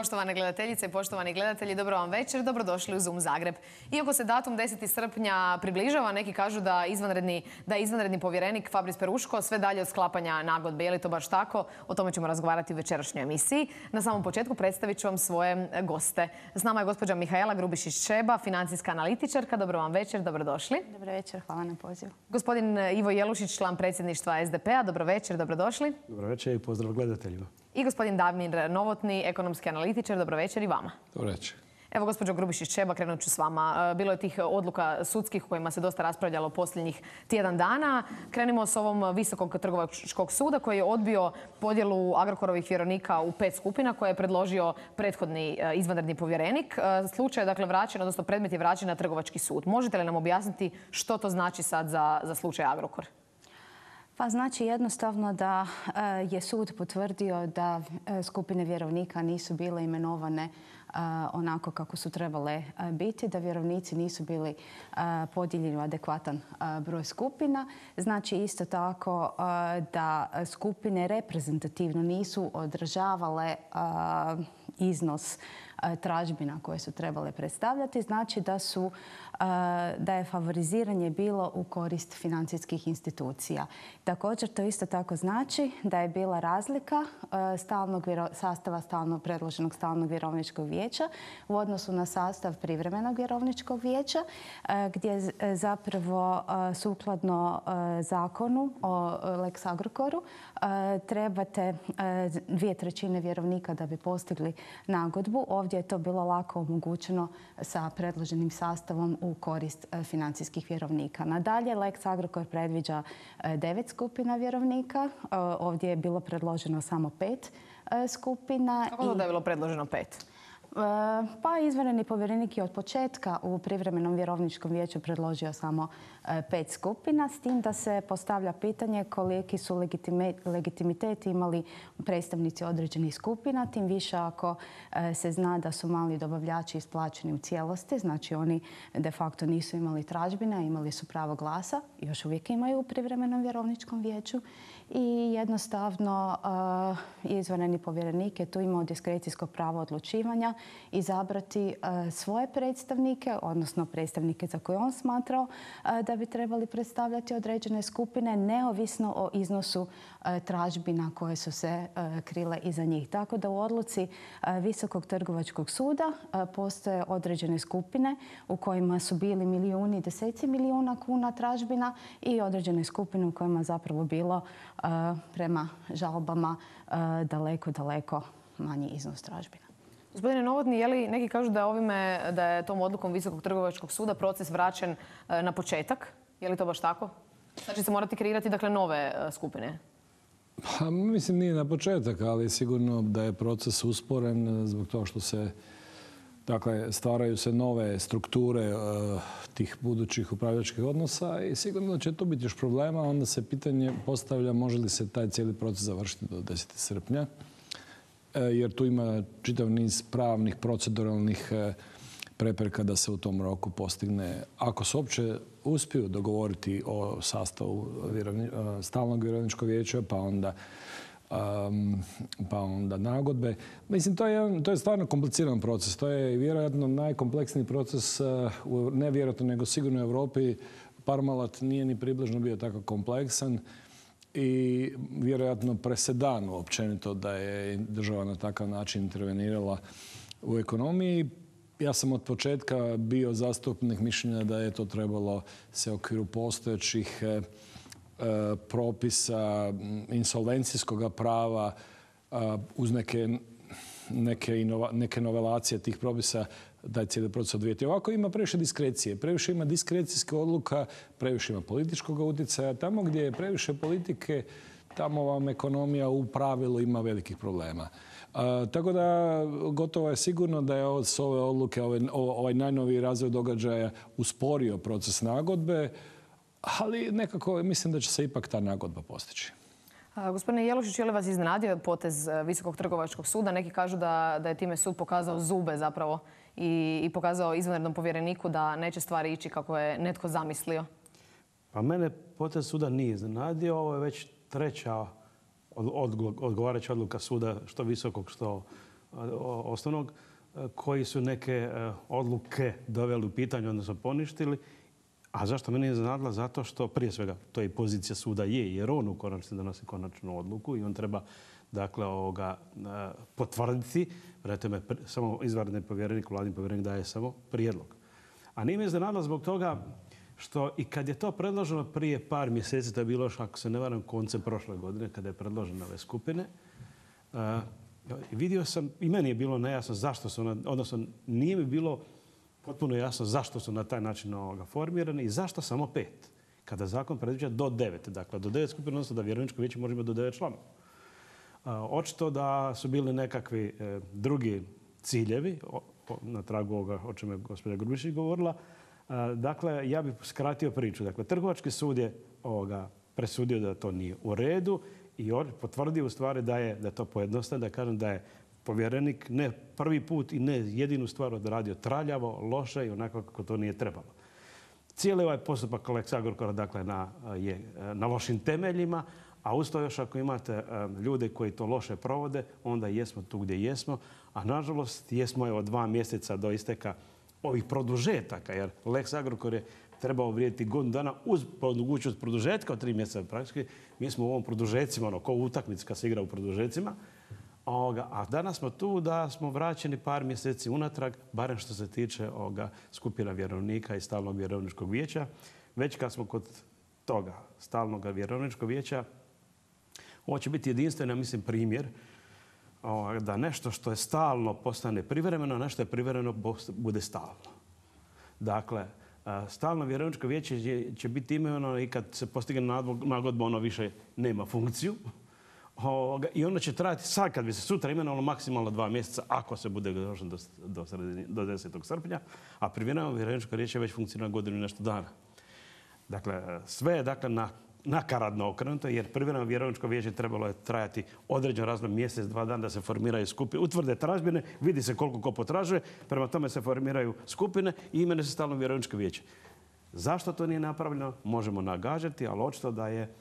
Poštovane gledateljice i poštovani gledatelji, dobro vam večer, dobrodošli u Zoom Zagreb. Iako se datum 10. srpnja približava, neki kažu da je izvanredni povjerenik Fabris Peruško sve dalje od sklapanja nagodbe. Je li to baš tako? O tome ćemo razgovarati u večerašnjoj emisiji. Na samom početku predstavit ću vam svoje goste. S nama je gospođa Mihaela Grubišić-Šeba, financijska analitičarka. Dobro vam večer, dobrodošli. Dobro večer, hvala na pozivu. Gospodin Ivo Jelušić, član predsjedništva SDP-a. Dobro večer, dobrodošli. Dobro večer i pozdrav gledateljima. I gospodin Damir Novotni, ekonomski analitičar. Dobro večer i vama. Dobro večer. Evo, gospođo Grubišić-Šeba, krenut ću s vama. Bilo je tih odluka sudskih u kojima se dosta raspravljalo posljednjih tjedan dana. Krenimo s ovom Visokog trgovačkog suda koji je odbio podjelu Agrokorovih vjerovnika u 5 skupina koje je predložio prethodni izvanredni povjerenik. Slučaj je dakle vraćen, odnosno predmet je vraćen na trgovački sud. Možete li nam objasniti što to znači sad za slučaj Agrokor? Pa znači jednostavno da je sud potvrdio da skupine vjerovnika nisu bile imenovane onako kako su trebale biti, da vjerovnici nisu bili podijeljeni u adekvatan broj skupina. Znači isto tako da skupine reprezentativno nisu odražavale iznos tražbina koje su trebale predstavljati. Znači da je favoriziranje bilo u korist financijskih institucija. Također to isto tako znači da je bila razlika sastava predloženog stalnog vjerovničkog vijeća u odnosu na sastav privremenog vjerovničkog vijeća, gdje zapravo sukladno zakonu o Lex Agrokoru trebate 2/3 vjerovnika da bi postigli nagodbu. Ovdje je to bilo lako omogućeno sa predloženim sastavom u korist financijskih vjerovnika. Nadalje, Lex Agrokor predviđa 9 skupina vjerovnika. Ovdje je bilo predloženo samo 5 skupina. Kako da je bilo predloženo 5? Pa izvanredni povjerenik je od početka u privremenom vjerovničkom vijeću predložio samo 5 skupina, s tim da se postavlja pitanje koliki su legitimitet imali predstavnici određenih skupina, tim više ako se zna da su mali dobavljači isplaćeni u cijelosti, znači oni de facto nisu imali tražbina, imali su pravo glasa, još uvijek imaju u privremenom vjerovničkom vijeću i jednostavno izvanredni povjerenik je tu imao diskrecijsko pravo odlučivanja izabrati svoje predstavnike, odnosno predstavnike za koje on smatrao da bi trebali predstavljati određene skupine, neovisno o iznosu tražbina koje su se krile iza njih. Tako da u odluci Visokog trgovačkog suda postoje određene skupine u kojima su bili milijuni, deseci milijuna kuna tražbina i određene skupine u kojima zapravo bilo prema žalbama daleko manji iznos tražbina. Gospodine Novotni, je li neki kažu da je tom odlukom Visokog trgovačkog suda proces vraćen na početak? Je li to baš tako? Znači se morati kreirati dakle nove skupine? Pa, mislim nije na početak, ali sigurno da je proces usporen zbog toga što se stvaraju se nove strukture tih budućih upravljačkih odnosa i sigurno će tu biti još problema. Onda se pitanje postavlja može li se taj cijeli proces završiti do 10. srpnja. Jer tu ima čitav niz pravnih, proceduralnih prepreka da se u tom roku postigne. Ako se uopće uspiju dogovoriti o sastavu stalnog vjerovničkog vijeća, pa onda nagodbe. Mislim, to je stvarno kompliciran proces. To je vjerojatno najkompleksniji proces, ne vjerojatno, nego sigurno u Europi. Parmalat nije ni približno bio tako kompleksan. I vjerojatno presedan općenito da je država na takav način intervenirala u ekonomiji. Ja sam od početka bio zastupnik mišljenja da je to trebalo se u okviru postojećih propisa insolvencijskog prava uz neke novelacije tih propisa da je cijeli proces odvijeti. Ovako ima previše diskrecije, previše ima diskrecijske odluka, previše ima političkog utjecaja. Tamo gdje je previše politike, tamo vam ekonomija u pravilu ima velikih problema. Tako da gotovo je sigurno da je s ove odluke, ovaj najnoviji razvoj događaja usporio proces nagodbe, ali nekako mislim da će se ipak ta nagodba postići. Gospodine Jelušić, je li vas iznenadio potez Visokog trgovačkog suda? Neki kažu da je time sud pokazao zube zapravo i pokazao izvanrednom povjereniku da neće stvari ići kako je netko zamislio. Pa mene potez suda nije iznenadio. Ovo je već treća odgovarajuća odluka suda, što visokog, što osnovnog, koji su neke odluke doveli u pitanje, odnosno poništili. A zašto mene je iznenadila? Zato što, prije svega, to je pozicija suda jer on u konačnici donosi konačnu odluku i on treba potvrditi. Prema tome, samo izvanredni povjerenik, vladin povjerenik daje samo prijedlog. A nije me iznenadila zbog toga što i kad je to predloženo prije par mjeseci, to je bilo još, ako se ne varam, koncem prošle godine, kada je predloženo ove skupine, vidio sam, i meni je bilo nejasno zašto su, odnosno nije mi bilo potpuno jasno zašto su na taj način formirani i zašto samo 5, kada zakon predviđa do 9. Dakle, do 9 skupina, odnosno da vjerovničko vijeće može imati do 9 članova. Očito da su bili nekakvi drugi ciljevi, na tragu ovoga o čemu je gospođa Grubišić govorila. Dakle, ja bih skratio priču. Dakle, Trgovački sud je presudio da to nije u redu i potvrdio u stvari da je to pojednostavno, da kažem da je povjerenik ne prvi put i ne jedinu stvar odradio traljavo, loše i onako kako to nije trebalo. Cijeli ovaj postupak Lex Agrokora dakle, je na lošim temeljima, a uz to još ako imate ljude koji to loše provode, onda jesmo tu gdje jesmo, a nažalost jesmo od 2 mjeseca do isteka ovih produžetaka, jer Lex Agrokor je trebao vrijediti godinu dana uz mogućnost produžetka od 3 mjeseca praktički. Mi smo u ovom produžecima, ko utakmica kad se igra u produžecima, a danas smo tu da smo vraćeni par mjeseci unatrag, barem što se tiče skupina vjerovnika i stalnog vjerovničkog vijeća. Već kad smo kod toga stalnog vjerovničkog vijeća, ovo će biti jedinstveni, mislim, primjer da nešto što je stalno postane privremeno, a nešto je privremeno bude stalno. Dakle, stalno vjerovničko vijeće će biti imenovano i kad se postigne nagodba, ono više nema funkciju. I ono će trajati sad kad bi se sutra imenovalo maksimalno 2 mjeseca ako se bude došlo do 10. srpnja, a privremeno vjerovničko vijeće već funkcionira godinu i nešto dana. Dakle, sve je nakaradno okrenuto jer privremeno vjerovničko vijeće trebalo je trajati određeno razdoblje, mjesec, 2 dana da se formiraju skupine, utvrde tražbine, vidi se koliko ko potražuje, prema tome se formiraju skupine i imenuje se stalno vjerovničko vijeće. Zašto to nije napravljeno? Možemo nagađati, ali očito da je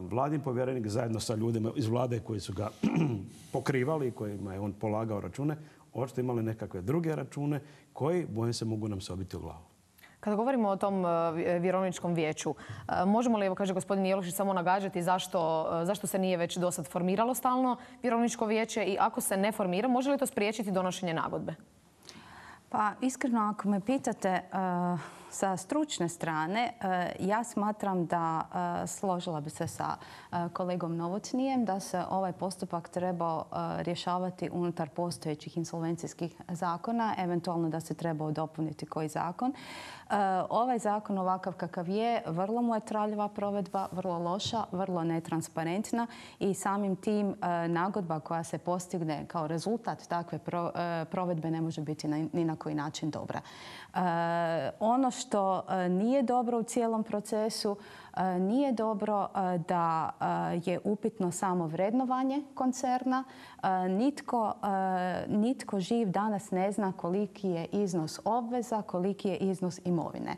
vladin povjerenik zajedno sa ljudima iz vlade koji su ga pokrivali i kojima je on polagao račune, očito imali nekakve druge račune koji, bojim se, mogu nam se obiti u glavu. Kada govorimo o tom vjerovničkom vijeću, možemo li, evo kaže gospodin Jelušić, samo nagađati zašto se nije već do sad formiralo stalno vjerovničko vijeće i ako se ne formira, može li to spriječiti donošenje nagodbe? Pa iskreno, ako me pitate sa stručne strane, ja smatram da složila bi se sa kolegom Novotnijem da se ovaj postupak trebao rješavati unutar postojećih insolvencijskih zakona, eventualno da se trebao dopuniti koji zakon. Ovaj zakon ovakav kakav je, vrlo mu je traljava provedba, vrlo loša, vrlo netransparentna i samim tim nagodba koja se postigne kao rezultat takve provedbe ne može biti ni na koji način dobra. Ono što nije dobro u cijelom procesu, nije dobro da je upitno samo vrednovanje koncerna. Nitko živ danas ne zna koliki je iznos obveza, koliki je iznos imovine.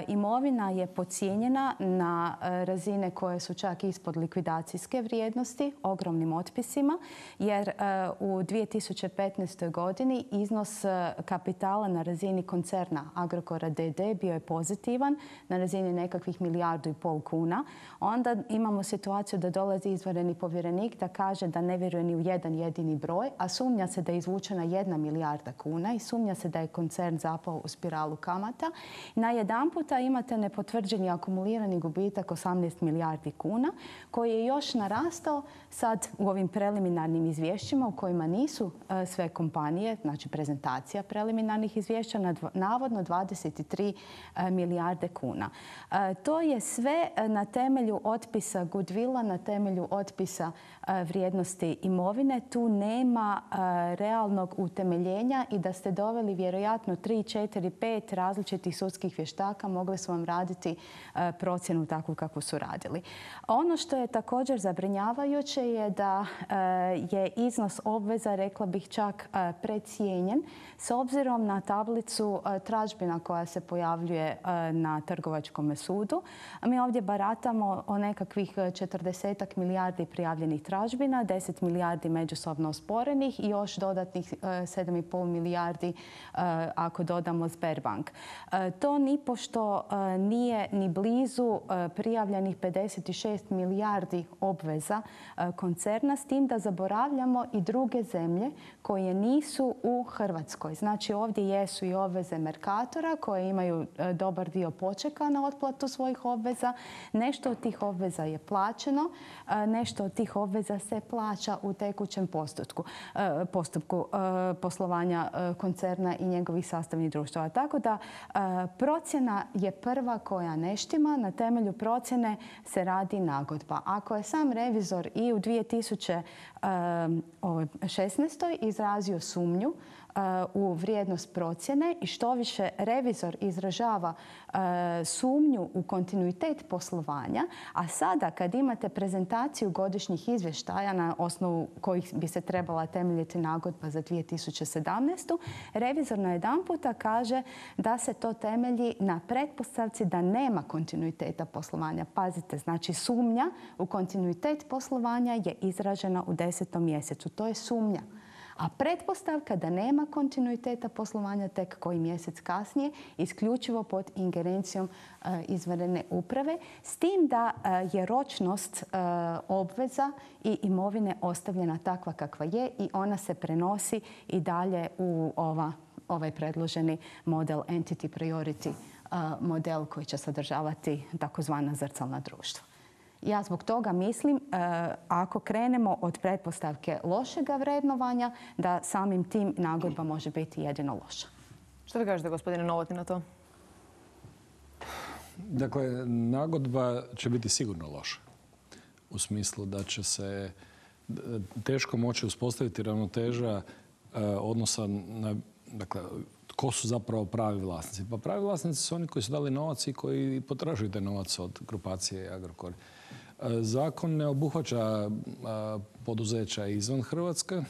Imovina je podcijenjena na razine koje su čak ispod likvidacijske vrijednosti, ogromnim otpisima, jer u 2015. godini iznos kapitala na razini koncerna Agrokora d.d. bio je pozitivan, na razini nekakvih 1,5 milijardu kuna. Onda imamo situaciju da dolazi izvanredni povjerenik da kaže da ne vjeruje ni u jedan jedini broj, a sumnja se da je izvučena 1 milijarda kuna i sumnja se da je koncern zapao u spiralu kamata. Najedanputa imate nepotvrđeni akumulirani gubitak 18 milijardi kuna koji je još narastao sad u ovim preliminarnim izvješćima u kojima nisu sve kompanije, znači prezentacija preliminarnih izvješća, navodno 23 milijarde kuna. To je sve na temelju otpisa goodwilla, na temelju otpisa vrijednosti imovine. Tu nema realnog utemeljenja i da ste doveli vjerojatno 3, 4, 5 različitih sudskih vještaka, mogli su vam raditi procjenu takvu kakvu su radili. Ono što je također zabrinjavajuće je da je iznos obveza, rekla bih čak precijenjen, s obzirom na tablicu tražbina koja se pojavljuje na Trgovačkom sudu. mi ovdje baratamo o nekakvih 40 milijardi prijavljenih tražbina, 10 milijardi međusobno osporenih i još dodatnih 7,5 milijardi ako dodamo Sberbank. To nipošto nije ni blizu prijavljenih 56 milijardi obveza koncerna, s tim da zaboravljamo i druge zemlje koje nisu u Hrvatskoj. Znači ovdje jesu i obveze Mercatora koje imaju dobar dio počeka na otplatu svojih obveza. Nešto od tih obveza je plaćeno, nešto od tih obveza se plaća u tekućem postupku poslovanja koncerna i njegovih sastavnih društava. Tako da procjena je prva koja ne štima. Na temelju procjene se radi nagodba. Ako je sam revizor i u 2016. izrazio sumnju u vrijednost procjene i što više revizor izražava sumnju u kontinuitet poslovanja, a sada kad imate prezentaciju godišnjih izvještaja na osnovu kojih bi se trebala temeljiti nagodba za 2017. revizor najedanputa kaže da se to temelji na pretpostavci da nema kontinuiteta poslovanja. Pazite, znači sumnja u kontinuitet poslovanja je izražena u 10. mjesecu. To je sumnja. A pretpostavka da nema kontinuiteta poslovanja tek koji mjesec kasnije, isključivo pod ingerencijom izvanredne uprave, s tim da je ročnost obveza i imovine ostavljena takva kakva je i ona se prenosi i dalje u ovaj predloženi model Entity Priority model koji će sadržavati takozvana zrcalna društva. Ja zbog toga mislim, ako krenemo od pretpostavke lošega vrednovanja, da samim tim nagodba može biti jedino loša. Što vi kažete, gospodine Novotny, na to? Dakle, nagodba će biti sigurno loša. U smislu da će se teško moći uspostaviti ravnoteža odnosa na, dakle, tko su zapravo pravi vlasnici. Pa pravi vlasnici su oni koji su dali novac i koji potražuju taj novac od grupacije Agrokor. Zakon ne obuhvaća poduzeća izvan Hrvatske.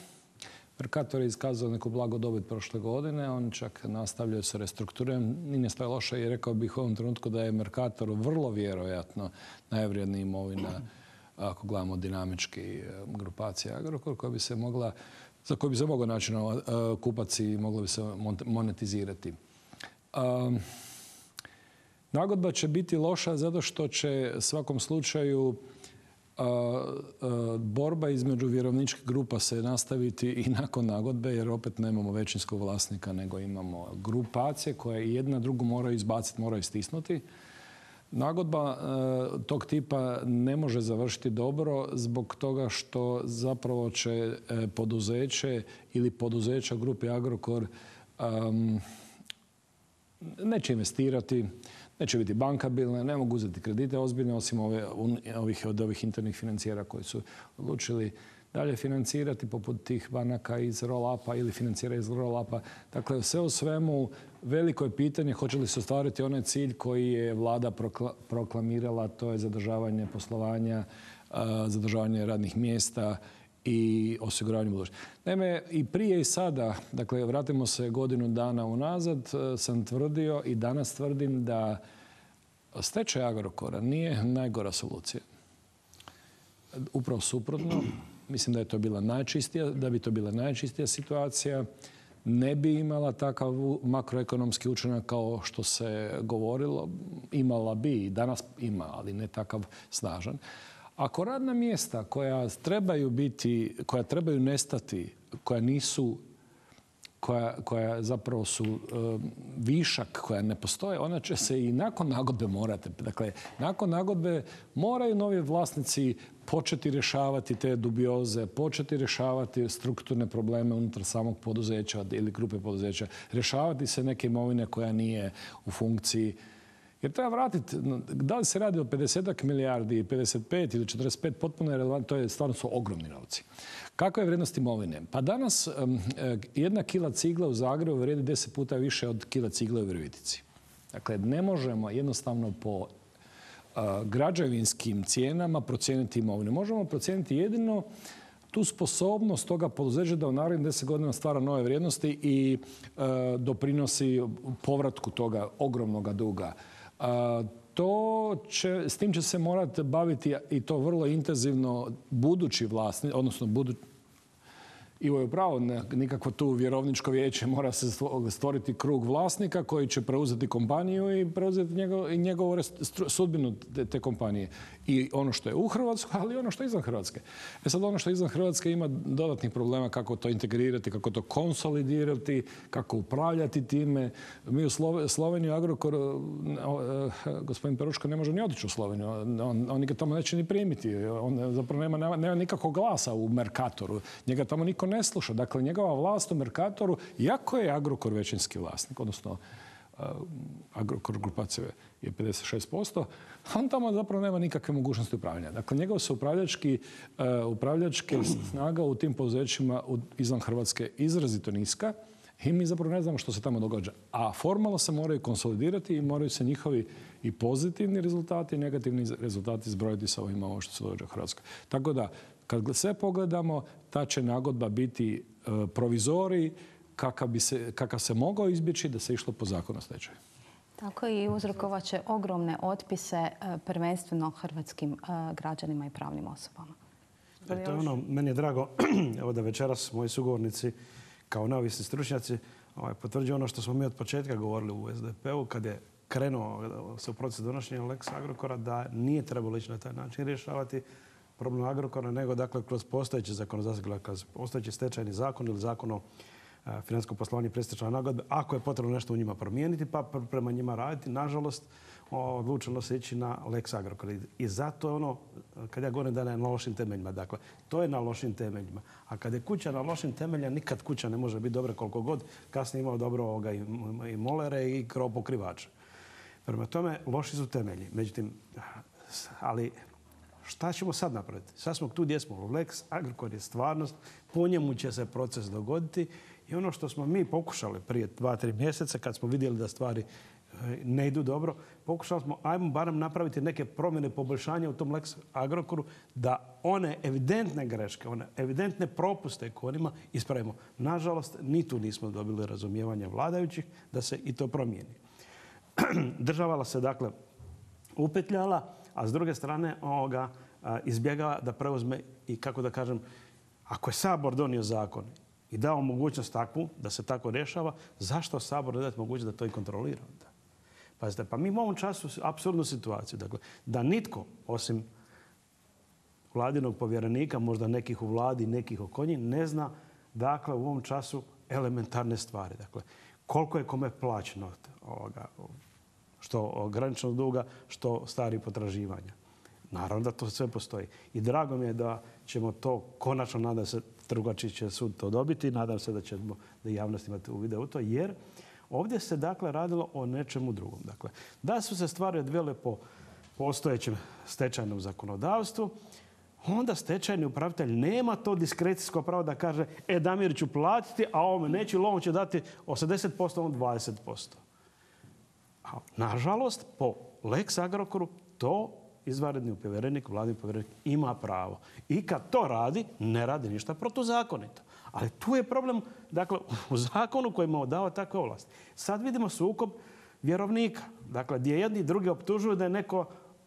Mercator je iskazao neku blagu dobit prošle godine. Oni čak nastavljaju sa restrukturiranjem. Ni ne stoje loše i rekao bih u ovom trenutku da je Mercator vrlo vjerojatno najvrijednija imovina, ako gledamo dinamički, grupacija Agrokor, koja bi se mogla, za koju bi se mogao naći kupac i moglo bi se monetizirati. Nagodba će biti loša zato što će u svakom slučaju borba između vjerovničkih grupa se nastaviti i nakon nagodbe, jer opet nemamo većinskog vlasnika, nego imamo grupacije koje jedna drugu moraju izbaciti, moraju stisnuti. Nagodba tog tipa ne može završiti dobro zbog toga što zapravo će poduzeće ili poduzeća grupe Agrokor neće investirati, neće biti bankabilne, ne mogu uzeti kredite ozbiljne osim od ovih internih financijera koji su odlučili dalje financirati poput tih banaka iz roll-upa ili financijera iz roll-upa. Dakle, sve u svemu veliko je pitanje hoće li se ostvariti onaj cilj koji je vlada proklamirala, to je zadržavanje poslovanja, zadržavanje radnih mjesta i osiguravanje budućnosti. Naime, i prije i sada, dakle, vratimo se godinu dana unazad, sam tvrdio i danas tvrdim da stečaj Agrokora nije najgora solucija. Upravo suprotno, mislim da bi to bila najčistija situacija. Ne bi imala takav makroekonomski učinak kao što se govorilo. Imala bi i danas ima, ali ne takav snažan. Ako radna mjesta koja trebaju nestati, koja zapravo su višak, koja ne postoje, ona će se i nakon nagodbe morati. Dakle, nakon nagodbe moraju novi vlasnici početi rješavati te dubioze, početi rješavati strukturne probleme unutar samog poduzeća ili grupe poduzeća, rješavati se neke imovine koja nije u funkciji. Jer treba vratiti, da li se radi o 50 milijardi, 55 ili 45, potpuno je relevantno, to je stvarno su ogromni novci. Kakva je vrijednost imovine? Pa danas jedna kila cigle u Zagrebu vrijedi 10 puta više od kila cigle u Virovitici. Dakle, ne možemo jednostavno po građevinskim cijenama procijeniti imovinu. Možemo procijeniti jedino tu sposobnost toga poduzeća da u narednih 10 godina stvara nove vrijednosti i doprinosi povratku toga ogromnog duga. s tim će se morati baviti i to vrlo intenzivno budući vlasnik, odnosno Ivo je upravo, nikakvo tu vjerovničko vijeće, mora se stvoriti krug vlasnika koji će preuzeti kompaniju i preuzeti njegovu sudbinu te kompanije. I ono što je u Hrvatskoj, ali i ono što je izvan Hrvatske. Sad ono što je izvan Hrvatske ima dodatnih problema kako to integrirati, kako to konsolidirati, kako upravljati time. Mi u Sloveniju, Agrokor, gospodin Peruško ne može ni otići u Sloveniju. On ga tamo neće ni primiti. On zapravo nema nikakvog glasa u Mercatoru. Njega tamo niko ne sluša. Dakle, njegova vlast u Mercatoru, iako je Agrokor većinski vlasnik, odnosno Agrokor grupacije je 56%, on tamo zapravo nema nikakve mogućnosti upravljanja. Dakle, njegova su upravljačke snaga u tim poduzećima izvan Hrvatske izrazito niska i mi zapravo ne znamo što se tamo događa. A formalno se moraju konsolidirati i moraju se njihovi i pozitivni rezultati i negativni rezultati zbrojiti sa ovima ovo što se događa u Hrvatskoj. Tako da, kad sve pogledamo, ta će nagodba biti provizorij kakav se mogao izbjeći da se išlo po zakonu o stečaju. Tako i uzrokovat će ogromne otpise prvenstveno hrvatskim građanima i pravnim osobama. To je ono, meni je drago evo da večeras moji sugovornici kao neovisni stručnjaci potvrđuju ono što smo mi od početka govorili u SDP-u kad je krenuo se u proces donošenja Lex Agrokora, da nije trebalo ići na taj način rješavati problem Agrokora, nego dakle kroz postojeće zakonodavstvo, kroz postojeći stečajni zakon ili zakon o financijskom poslovanju i predstečajnoj nagodbi, ako je potrebno nešto u njima promijeniti, pa prema njima raditi. Nažalost, odlučilo se ići na Lex Agrokor. I zato je ono, kad ja govorim da je na lošim temeljima, dakle, to je na lošim temeljima. A kad je kuća na lošim temeljima, nikad kuća ne može biti dobra koliko god kasnije imao dobro i molere i krov pokrivače. Prema tome, loši su temelji. Međutim, ali šta ćemo sad napraviti? Sad smo tu gdje smo. Lex Agrokor je stvarnost, po njemu će se proces dogoditi i ono što smo mi pokušali prije 2-3 mjeseca kad smo vidjeli da stvari ne idu dobro, pokušali smo ajmo barem napraviti neke promjene, poboljšanja u tom Lex Agrokoru da one evidentne greške, one evidentne propuste koje ima ispravimo. Nažalost, ni tu nismo dobili razumijevanja vladajućih da se i to promijeni. Država se dakle upetljala, a s druge strane izbjegava da preuzme i kako da kažem, ako je Sabor donio zakon i dao mogućnost takvu, da se tako rješava, zašto Sabor ne dati mogućnost da to i kontrolira onda? Pazite, pa mi u ovom času apsurdnu situaciju, dakle, da nitko osim vladinog povjerenika, možda nekih u vladi, nekih oko njih, ne zna dakle u ovom času elementarne stvari. Dakle, koliko je kome plaćeno što graničnog duga, što starih potraživanja. Naravno da to sve postoji. I drago mi je da ćemo to konačno, nadam se, Trgovački će sud to dobiti, nadam se da ćemo da javnost imati uvide u to, jer ovdje se dakle radilo o nečemu drugom. Dakle, da su se stvari odvijele po postojećem stečajnom zakonodavstvu, onda stečajni upravitelj nema to diskrecijsko pravo da kaže Damir ću platiti, a ovome neću, ili on će dati 80%, on 20%. A nažalost, po Lex Agrokoru to izvanredni povjerenik, vladin povjerenik ima pravo. I kad to radi, ne radi ništa protuzakonito. Ali tu je problem, dakle, u zakonu koji mu dao takve ovlasti. Sad vidimo sukob vjerovnika. Dakle, gdje jedni i drugi optužuju da je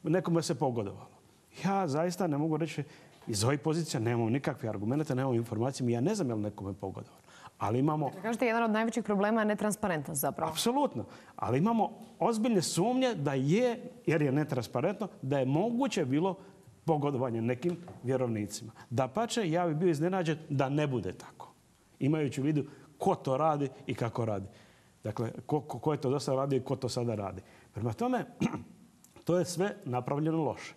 nekome se pogodovalo. Ja zaista ne mogu reći, iz ovih pozicija nemamo nikakve argumente, nemamo informacije, ja ne znam je li nekome pogodovalo. Ali imamo... Kažete, jedan od najvećih problema je netransparentnost zapravo. Apsolutno. Ali imamo ozbiljne sumnje da je, jer je netransparentno, da je moguće bilo pogodovanje nekim vjerovnicima. Dapače, ja bih bio iznenađen da ne bude tako. Imajući u vidu ko to radi i kako radi. Dakle, ko je to do sada radio i ko to sada radi. Prema tome, to je sve napravljeno loše.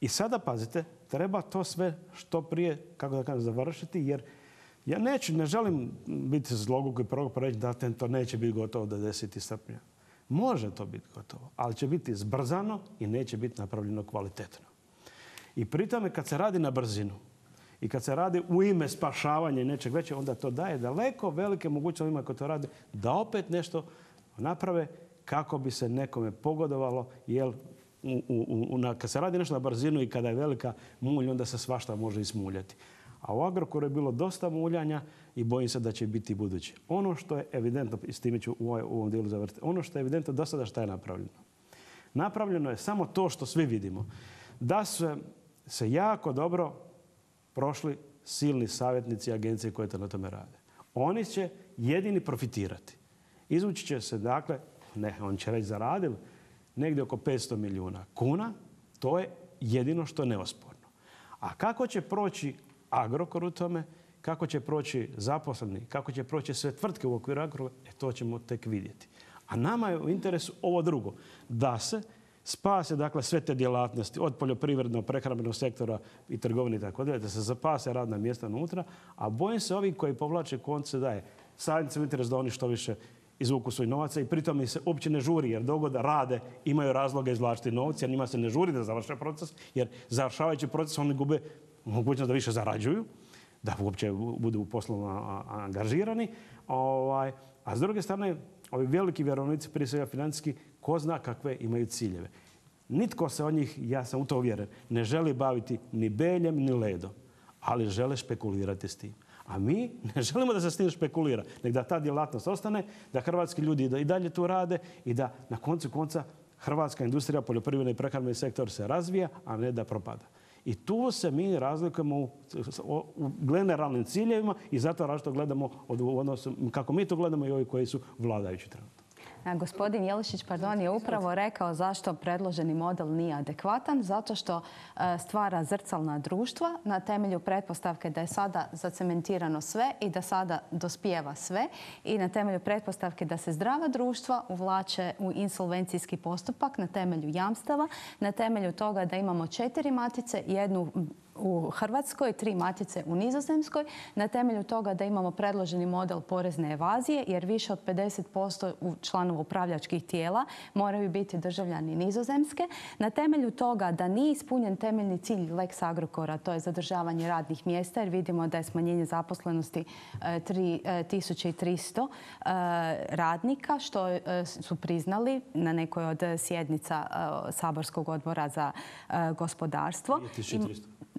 I sada, pazite, treba to sve što prije, kako da kažem, završiti, jer ja ne želim biti zloguk i prorok reći da to neće biti gotovo do 10. srpnja. Može to biti gotovo, ali će biti zbrzano i neće biti napravljeno kvalitetno. I pri tome kad se radi na brzinu i kad se radi u ime spašavanja i nečeg veće, onda to daje daleko velike mogućnosti onima koji to rade da opet nešto naprave kako bi se nekome pogodovalo, jer kad se radi nešto na brzinu i kada je velika mulj, onda se svašta može ismuljati. A u Agrokoru je bilo dosta muljanja i bojim se da će biti i budući. Ono što je evidentno, i s time ću u ovom dijelu završiti, ono što je evidentno do sada šta je napravljeno. napravljeno je samo to što svi vidimo. Da se jako dobro prošli silni savjetnici agencije koje to na tome rade. Oni će jedini profitirati. Izvući će se, dakle, on će reći zaradili, negdje oko 500 milijuna kuna. To je jedino što je neosporno. A kako će proći Agrokor u tome, kako će proći zaposleni, kako će proći sve tvrtke u okviru Agrokora, to ćemo tek vidjeti. A nama je u interesu ovo drugo, da se spase, dakle, sve te djelatnosti od poljoprivrednog, prehrambenog sektora i trgovine i tako dalje, da se zapase radna mjesta unutra, a bojim se ovih koji povlače konce daje savjetnicima interes da oni što više izvuku svoj novaca i pritom im se uopće ne žuri, jer dok god rade imaju razloga izvlačiti novce, jer njima se ne žuri da završe proces, jer završavajući proces oni gube mogućnost da više zarađuju, da uopće budu poslovno angažirani. A s druge strane, ovi veliki vjerovnici, prije svega financijski, ko zna kakve imaju ciljeve. Nitko se od njih, ja sam u to uvjeren, ne želi baviti ni Beljem ni ledom, ali žele špekulirati s tim. A mi ne želimo da se s tim špekulira, nego da ta djelatnost ostane, da hrvatski ljudi i dalje tu rade i da na koncu konca hrvatska industrija, poljoprivredni i prehrambeni sektor se razvija, a ne da propada. I tu se mi razlikujemo u generalnim ciljevima i zato različito gledamo u odnosu, kako mi to gledamo i ovi koji su vladajući trenutno. Gospodin Jelišić, je upravo rekao zašto predloženi model nije adekvatan. Zato što stvara zrcalna društva na temelju pretpostavke da je sada zacementirano sve i da sada dospijeva sve i na temelju pretpostavke da se zdrava društva uvlače u insolvencijski postupak na temelju jamstava, na temelju toga da imamo 4 matice, jednu u Hrvatskoj, 3 matice u Nizozemskoj, na temelju toga da imamo predloženi model porezne evazije, jer više od 50% članova upravljačkih tijela moraju biti državljani Nizozemske, na temelju toga da nije ispunjen temeljni cilj Lex Agrokora, to je zadržavanje radnih mjesta, jer vidimo da je smanjenje zaposlenosti 3300 radnika, što su priznali na nekoj od sjednica Saborskog odbora za gospodarstvo.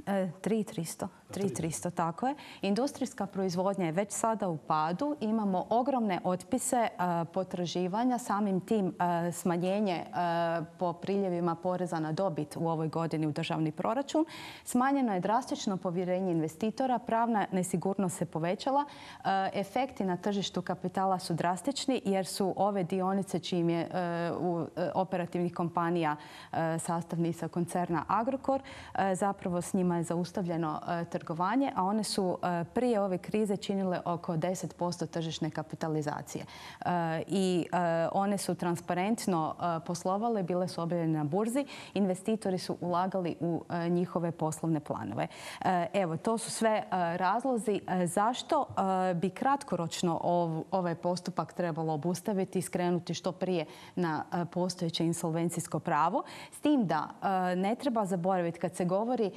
3300, tako je. Industrijska proizvodnja je već sada u padu. Imamo ogromne otpise potraživanja. Samim tim smanjenje po priljevima poreza na dobit u ovoj godini u državni proračun. Smanjeno je drastično povjerenje investitora. Pravna nesigurnost se povećala. Efekti na tržištu kapitala su drastični jer su ove dionice čijim je operativnih kompanija sastavnica koncerna Agrokor, zapravo s njima je zaustavljeno trgovanje, a one su prije ove krize činile oko 10% tržišne kapitalizacije. I one su transparentno poslovale, bile su objavljene na burzi, investitori su ulagali u njihove poslovne planove. Evo, to su sve razlozi zašto bi kratkoročno ovaj postupak trebalo obustaviti i skrenuti što prije na postojeće insolvencijsko pravo. S tim da ne treba zaboraviti kad se govori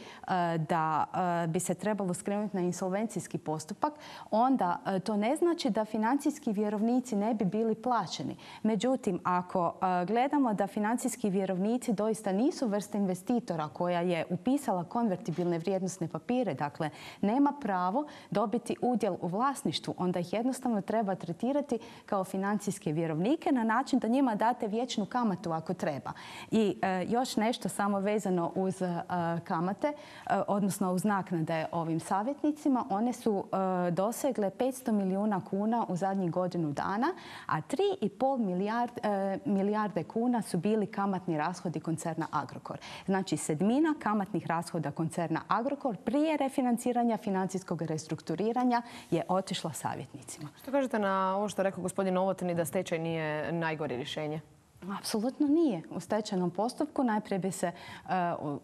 da bi se trebalo skrenuti na insolvencijski postupak, onda to ne znači da financijski vjerovnici ne bi bili plaćeni. Međutim, ako gledamo da financijski vjerovnici doista nisu vrsta investitora koja je upisala konvertibilne vrijednosne papire, dakle nema pravo dobiti udjel u vlasništvu, onda ih jednostavno treba tretirati kao financijske vjerovnike na način da njima date vječnu kamatu ako treba. I još nešto samo vezano uz kamate, odnosno uz naknade ovim savjetnicima. One su dosegle 500 milijuna kuna u zadnjih godinu dana, a 3,5 milijarde kuna su bili kamatni rashodi koncerna Agrokor. Znači, 1/7 kamatnih rashoda koncerna Agrokor prije refinanciranja financijskog restrukturiranja je otišla savjetnicima. Što kažete na ovo što je rekao gospodin Novotny da stečaj nije najgore rješenje? Apsolutno nije. U stečajnom postupku najprije bi se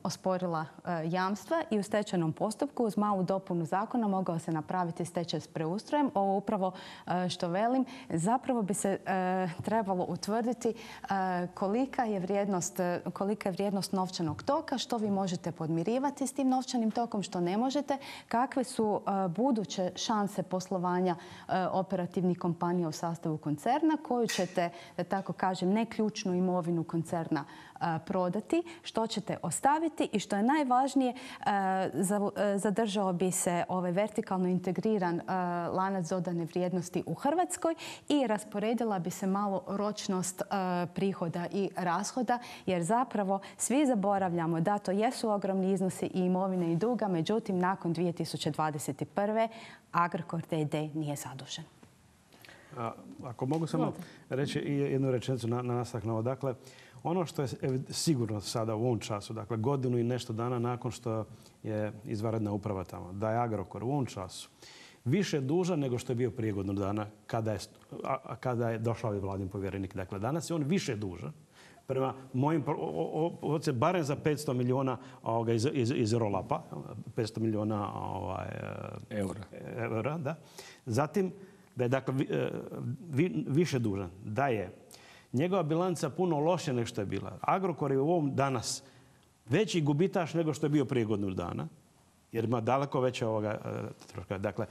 osporila jamstva i u stečajnom postupku uz malu dopunu zakona mogao se napraviti stečaj s preustrojem. Ovo upravo što velim, zapravo bi se trebalo utvrditi kolika je vrijednost novčanog toka, što vi možete podmirivati s tim novčanim tokom, što ne možete, kakve su buduće šanse poslovanja operativnih kompanija u sastavu koncerna, koju ćete, da tako kažem, ne ključnu ključnu imovinu koncerna prodati, što ćete ostaviti i što je najvažnije, zadržao bi se ovaj vertikalno integriran lanac dodane vrijednosti u Hrvatskoj i rasporedila bi se malo ročnost prihoda i rashoda, jer zapravo svi zaboravljamo da to jesu ogromni iznosi i imovine i duga, međutim nakon 2021. Agrokor d.d. nije zadužen. Ako mogu samo reći jednu rečenicu na nastavak na ovo. Dakle, ono što je sigurno sada u ovom času, dakle godinu i nešto dana nakon što je izvanredna uprava tamo, da je Agrokor u ovom času više dužan nego što je bio prije godinu dana kada je došao ovaj vladin povjerenik. Dakle, danas je on više dužan. Prema mojim barem za 500 milijuna iz roll-upa, 500 milijuna eura. Da. Zatim, da je dakle više dužan, da je njegova bilanca puno lošija nego što je bila. Agrokor je u ovom danas veći gubitaš nego što je bio prije godinu dana, jer ima daleko veće troška. Dakle,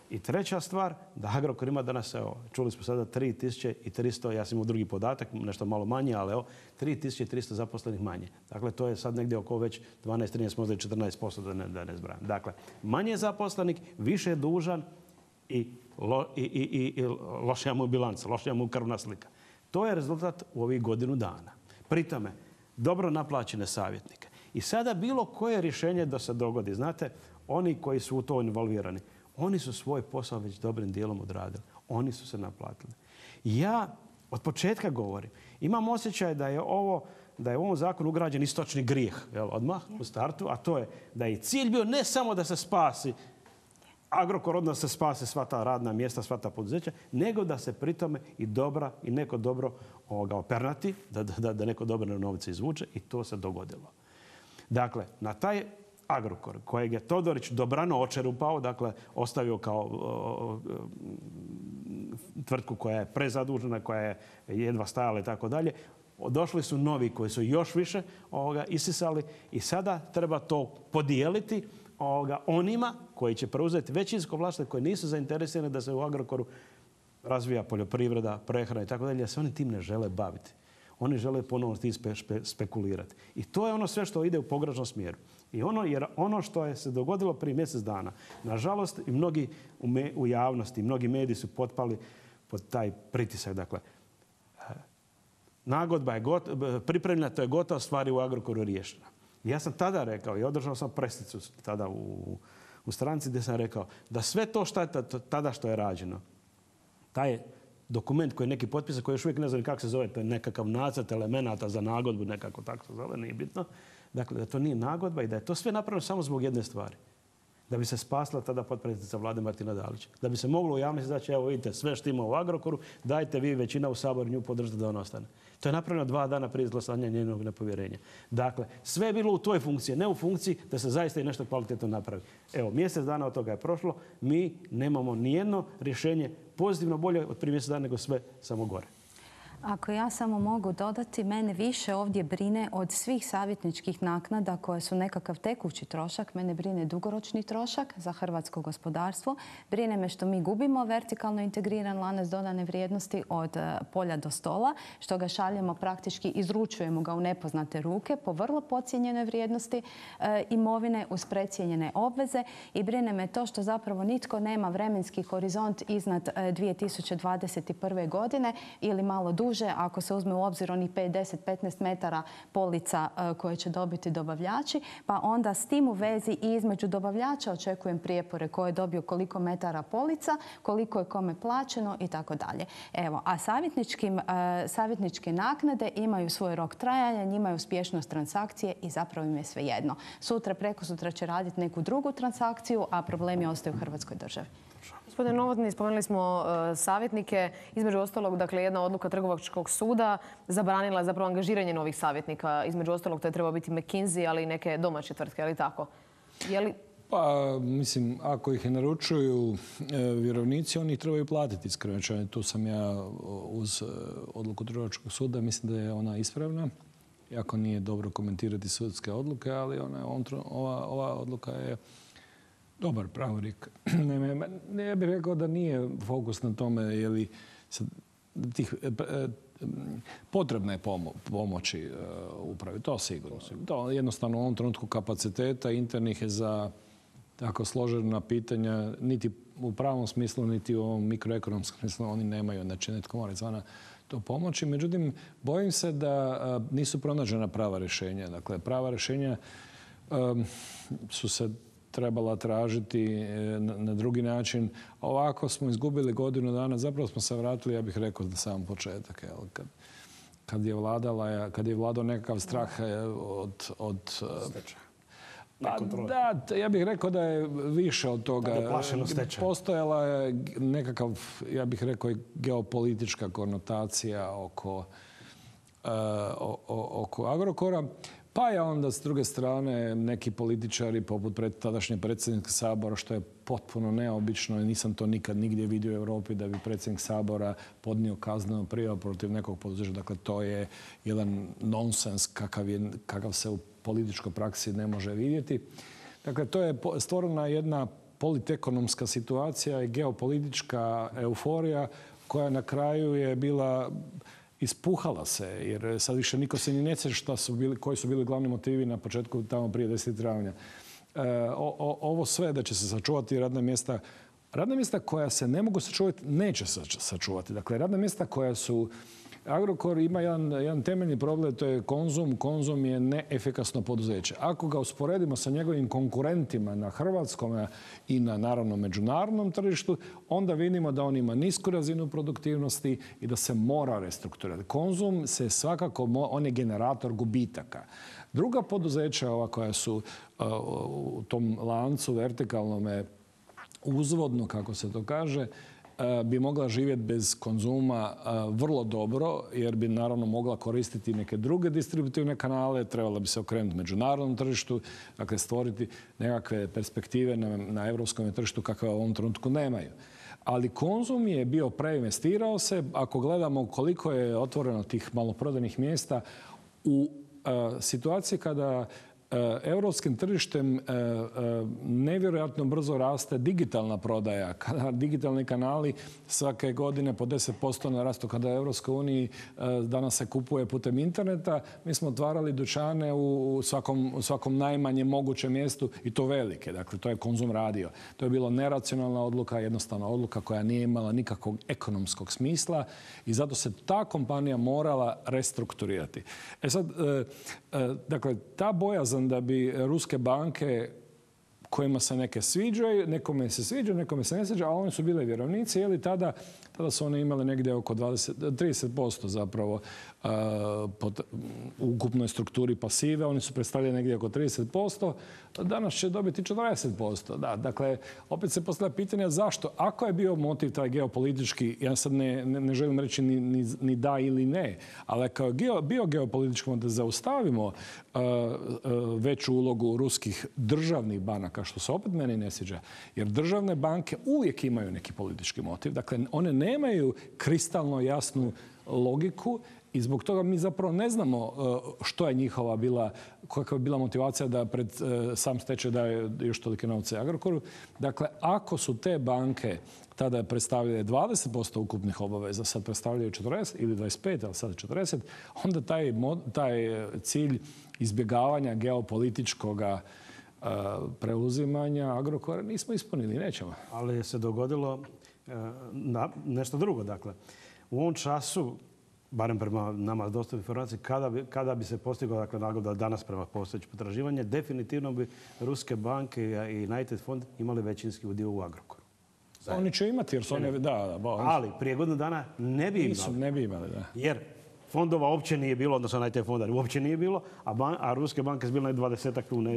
i treća stvar, da Agrokor ima danas, evo, čuli smo sada 3300, ja sam imao drugi podatak, nešto malo manje, ali evo, 3300 zaposlenih manje. Dakle, to je sad negdje oko već 12, 13, možda i 14%, da ne zbrajam. Dakle, manje zaposlenik, više dužan i lošija mu bilanca, lošija mu krvna slika. To je rezultat u ovih godinu dana. Pri tome, dobro naplaćene savjetnike. I sada bilo koje rješenje da se dogodi, znate, oni koji su u to involvirani, oni su svoj posao već dobrim dijelom odradili. Oni su se naplatili. Ja od početka govorim, imam osjećaj da je u ovom zakonu ugrađen istočni grijeh, odmah u startu, a to je da je cilj bio ne samo da se spasi Agrokor, odnosno se spase sva ta radna mjesta, sva ta poduzeća, nego da se pri tome i neko dobro opernati, da neko dobro novce izvuče, i to se dogodilo. Dakle, na taj Agrokor kojeg je Todorić dobrano očerupao, dakle ostavio kao tvrtku koja je prezadužena, koja je jedva stajala i tako dalje, došli su novi koji su još više isisali i sada treba to podijeliti onima koji će preuzeti većinsko vlasništvo, koji nisu zainteresirani da se u Agrokoru razvija poljoprivreda, prehrana i tako dalje, jer se oni tim ne žele baviti. Oni žele ponovno tim spekulirati. I to je ono sve što ide u pogrešnom smjeru. Jer ono što je se dogodilo prije mjesec dana, nažalost i mnogi u javnosti, mnogi mediji su potpali pod taj pritisak. Dakle, nagodba je pripremljena, to je gotova, stvari u Agrokoru riješena. Ja sam tada rekao i održao sam pressicu tada u stranci gdje sam rekao da sve to tada što je rađeno, taj dokument koji je neki potpisan, koji još uvijek ne znam kako se zove, to je nekakav nacrt elemenata za nagodbu, nekako tako se zove, nije bitno. Dakle, da to nije nagodba i da je to sve napravljeno samo zbog jedne stvari. Da bi se spasila tada potpredsjednica Vlade Martina Dalić. Da bi se moglo u javnosti reći, evo vidite, sve što ima u Agrokoru, dajte vi većina u Saboru nju podržite da on ostane. To je napravljeno 2 dana prije izglasanja njenog nepovjerenja. Dakle, sve je bilo u toj funkciji, ne u funkciji da se zaista i nešto kvalitetno napravi. Evo, mjesec dana od toga je prošlo, mi nemamo nijedno rješenje pozitivno bolje od prije mjesec dana, nego sve samo gore. Ako ja samo mogu dodati, mene više ovdje brine od svih savjetničkih naknada koje su nekakav tekući trošak, mene brine dugoročni trošak za hrvatsko gospodarstvo. Brine me što mi gubimo vertikalno integriran lanac dodane vrijednosti od polja do stola, što ga šaljemo, praktički izručujemo ga u nepoznate ruke po vrlo podcijenjenoj vrijednosti imovine uz precijenjene obveze, i brine me to što zapravo nitko nema vremenski horizont iznad 2021. godine ili malo duže, ako se uzme u obzir onih 5, 10, 15 metara polica koje će dobiti dobavljači, pa onda s tim u vezi i između dobavljača očekujem prijepore ko je dobio koliko metara polica, koliko je kome plaćeno i tako dalje. Evo, a savjetničke naknade imaju svoj rok trajanja, njima je uspješnost transakcije i zapravo im je svejedno. Sutra, prekosutra će raditi neku drugu transakciju, a problemi ostaju u Hrvatskoj državi. Gospodine Novotny, spomenuli smo savjetnike. Između ostalog, dakle, jedna odluka Trgovačkog suda zabranila zapravo angažiranje novih savjetnika. Između ostalog, to je trebao biti McKinsey, ali i neke domaće tvrtke, ali tako? Pa, mislim, ako ih naručuju vjerovnici, oni ih trebaju platiti iskreno. Tu sam ja uz odluku Trgovačkog suda. Mislim da je ona ispravna. Iako nije dobro komentirati sudske odluke, ali ova odluka je dobar pravorijek. Ja bih rekao da nije fokus na tome je li tih potrebna je pomoći upravi, to sigurno. To jednostavno u ovom trenutku kapaciteta internih je za tako složena pitanja, niti u pravom smislu, niti u ovom mikroekonomskom smislu oni nemaju. Znači, netko mora izvana to pomoći. Međutim, bojim se da nisu pronađena prava rješenja. Dakle, prava rješenja su se trebala tražiti na drugi način. Ovako smo izgubili godinu dana, zapravo smo se vratili, ja bih rekao, na sam početak. Kad je vladao nekakav strah od da, ja bih rekao da je više od toga. Postojala je nekakav, ja bih rekao, geopolitička konotacija oko Agrokora. Pa je onda s druge strane neki političari poput tadašnje predsjednika Sabora, što je potpuno neobično i nisam to nikad nigdje vidio u Europi da bi predsjednik Sabora podnio kaznenu prijavu protiv nekog poduzeća. Dakle, to je jedan nonsens kakav se u političkoj praksi ne može vidjeti. Dakle, to je stvorena jedna politekonomska situacija i geopolitička euforija koja na kraju je bila ispuhala se, jer sad više niko se ni ne sjeća koji su bili glavni motivi na početku tamo prije 10. travnja. Ovo sve da će se sačuvati radna mjesta koja se ne mogu sačuvati, neće se sačuvati. Dakle, radna mjesta koja su... Agrokor ima jedan temeljni problem, to je Konzum. Konzum je neefikasno poduzeće. Ako ga usporedimo sa njegovim konkurentima na hrvatskom i na, naravno, međunarodnom tržištu, onda vidimo da on ima nisku razinu produktivnosti i da se mora restrukturirati. Konzum se svakako, on je generator gubitaka. Druga poduzeća, ova koja su u tom lancu vertikalnome uzvodno, kako se to kaže, bi mogla živjeti bez Konzuma vrlo dobro, jer bi naravno mogla koristiti neke druge distributivne kanale, trebala bi se okrenuti međunarodnom tržištu, dakle stvoriti nekakve perspektive na europskom tržištu kakve u ovom trenutku nemaju. Ali Konzum je bio preinvestirao se. Ako gledamo koliko je otvoreno tih maloprodajnih mjesta u situaciji kada europskim tržištem nevjerojatno brzo raste digitalna prodaja. Kada digitalni kanali svake godine po 10% narastu, kada u Europskoj uniji danas se kupuje putem interneta, mi smo otvarali dućane u svakom najmanjem mogućem mjestu i to velike. Dakle, to je Konzum radio. To je bila neracionalna odluka, jednostavna odluka koja nije imala nikakvog ekonomskog smisla i zato se ta kompanija morala restrukturirati. Sad, dakle, ta bojazan da bi ruske banke kojima se neke sviđaju, nekome se sviđa, nekome se ne sviđa, a oni su bile vjerovnici, jer tada su one imale negdje oko 30% zapravo u ukupnoj strukturi pasive. Oni su predstavljali negdje oko 30%. Danas će dobiti 40%. Da, dakle, opet se postavlja pitanje zašto? Ako je bio motiv taj geopolitički, ja sad ne želim reći ni da ili ne, ali ako je bio geopolitički da zaustavimo veću ulogu ruskih državnih banaka, što se opet meni ne sviđa, jer državne banke uvijek imaju neki politički motiv. Dakle, one nemaju kristalno jasnu logiku i zbog toga mi zapravo ne znamo što je njihova bila, kakva je bila motivacija da pred sam stečaj daje još tolike novce Agrokoru. Dakle, ako su te banke tada predstavljale 20% ukupnih obaveza, sad predstavljaju 40 ili 25, ali sad 40, onda taj cilj izbjegavanja geopolitičkog preuzimanja Agrokora nismo ispunili, nećemo. Ali se dogodilo nešto drugo. Dakle, u ovom času, barem prema nama dosta informacije, kada bi se postigla dakle, nagodba danas prema postojećem potraživanje, definitivno bi ruske banke i United fond imali većinski udio u Agrokoru. Oni će imati jer su oni... Ali prije godinu dana ne bi imali. Ne bi imali, da. Jer fondova uopće nije bilo, odnosno United fonda uopće nije bilo, a ruske banke su bile 20 kuna.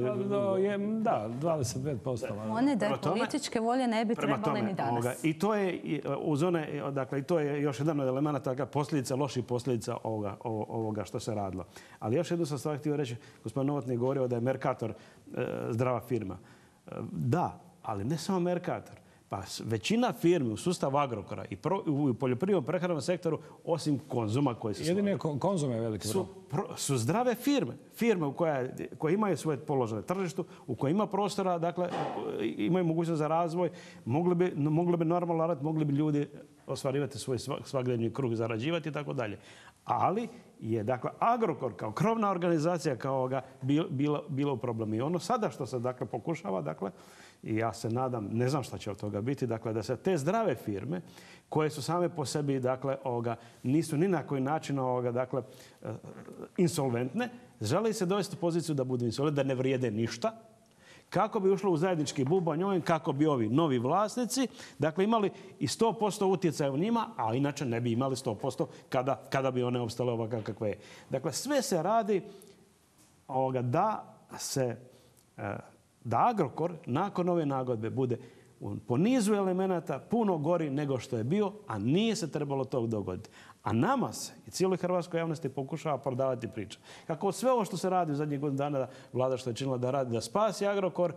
Da, 25%. One da je političke volje ne bi trebali ni danas. I to je uz one, dakle, i to je još jedan od elemenata, posljedica, loših posljedica ovoga što se radilo. Ali još jednu sam stvar htio reći, gospodin Novotny je govorio da je Mercator zdrava firma. Da, ali ne samo Mercator. Pa većina firmi u sustavu Agrokora i u poljoprivrednom prehrambenom sektoru, osim Konzuma koji se jedine Konzum je veliki su zdrave firme. Firme koje imaju svoje položaje na tržištu, u kojima ima prostora, dakle, imaju mogućnost za razvoj, mogli bi normalno raditi, mogli bi ljudi ostvarivati svoj svakodnevni kruh, zarađivati i tako dalje. Ali je, dakle, Agrokor kao krovna organizacija bila u problemu. I ono sada što se, dakle, pokušava, dakle, i ja se nadam, ne znam šta će od toga biti, dakle, da se te zdrave firme koje su same po sebi, dakle, nisu ni na koji način, dakle, insolventne, žele se dovesti u poziciju da budu insolventne, da ne vrijede ništa, kako bi ušlo u zajednički bubanj, kako bi ovi novi vlasnici, dakle, imali i 100% utjecaja u njima, a inače ne bi imali 100% kada bi one opstale ovakve kakve je. Dakle, sve se radi da Agrokor nakon ove nagodbe bude po nizu elemenata puno gori nego što je bio, a nije se trebalo to dogoditi. A nama se i cijeloj hrvatskoj javnosti pokušava prodavati priča. Kako sve ovo što se radi u zadnjih godinu dana, vlada što je činila da radi, da spasi Agrokor,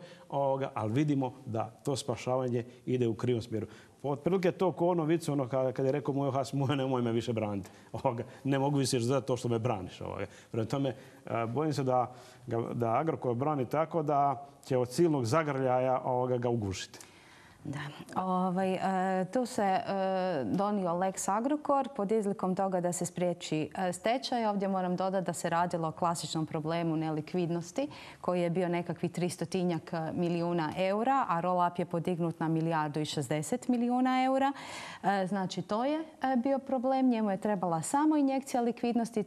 ali vidimo da to spašavanje ide u krivom smjeru. Otprilike to ko ono vicu, kad je rekao moj has, nemoj me više braniti. Ne mogu više za to što me braniš. Prema tome, bojim se da Agrokor brani tako da će od silnog zagrljaja ga ugušiti. Da. Tu se donio Lex Agrokor pod izlikom toga da se spriječi stečaj. Ovdje moram dodati da se radilo o klasičnom problemu nelikvidnosti koji je bio nekakvih 300 milijuna eura, a roll-up je podignut na 1,60 milijardi eura. Znači, to je bio problem. Njemu je trebala samo injekcija likvidnosti.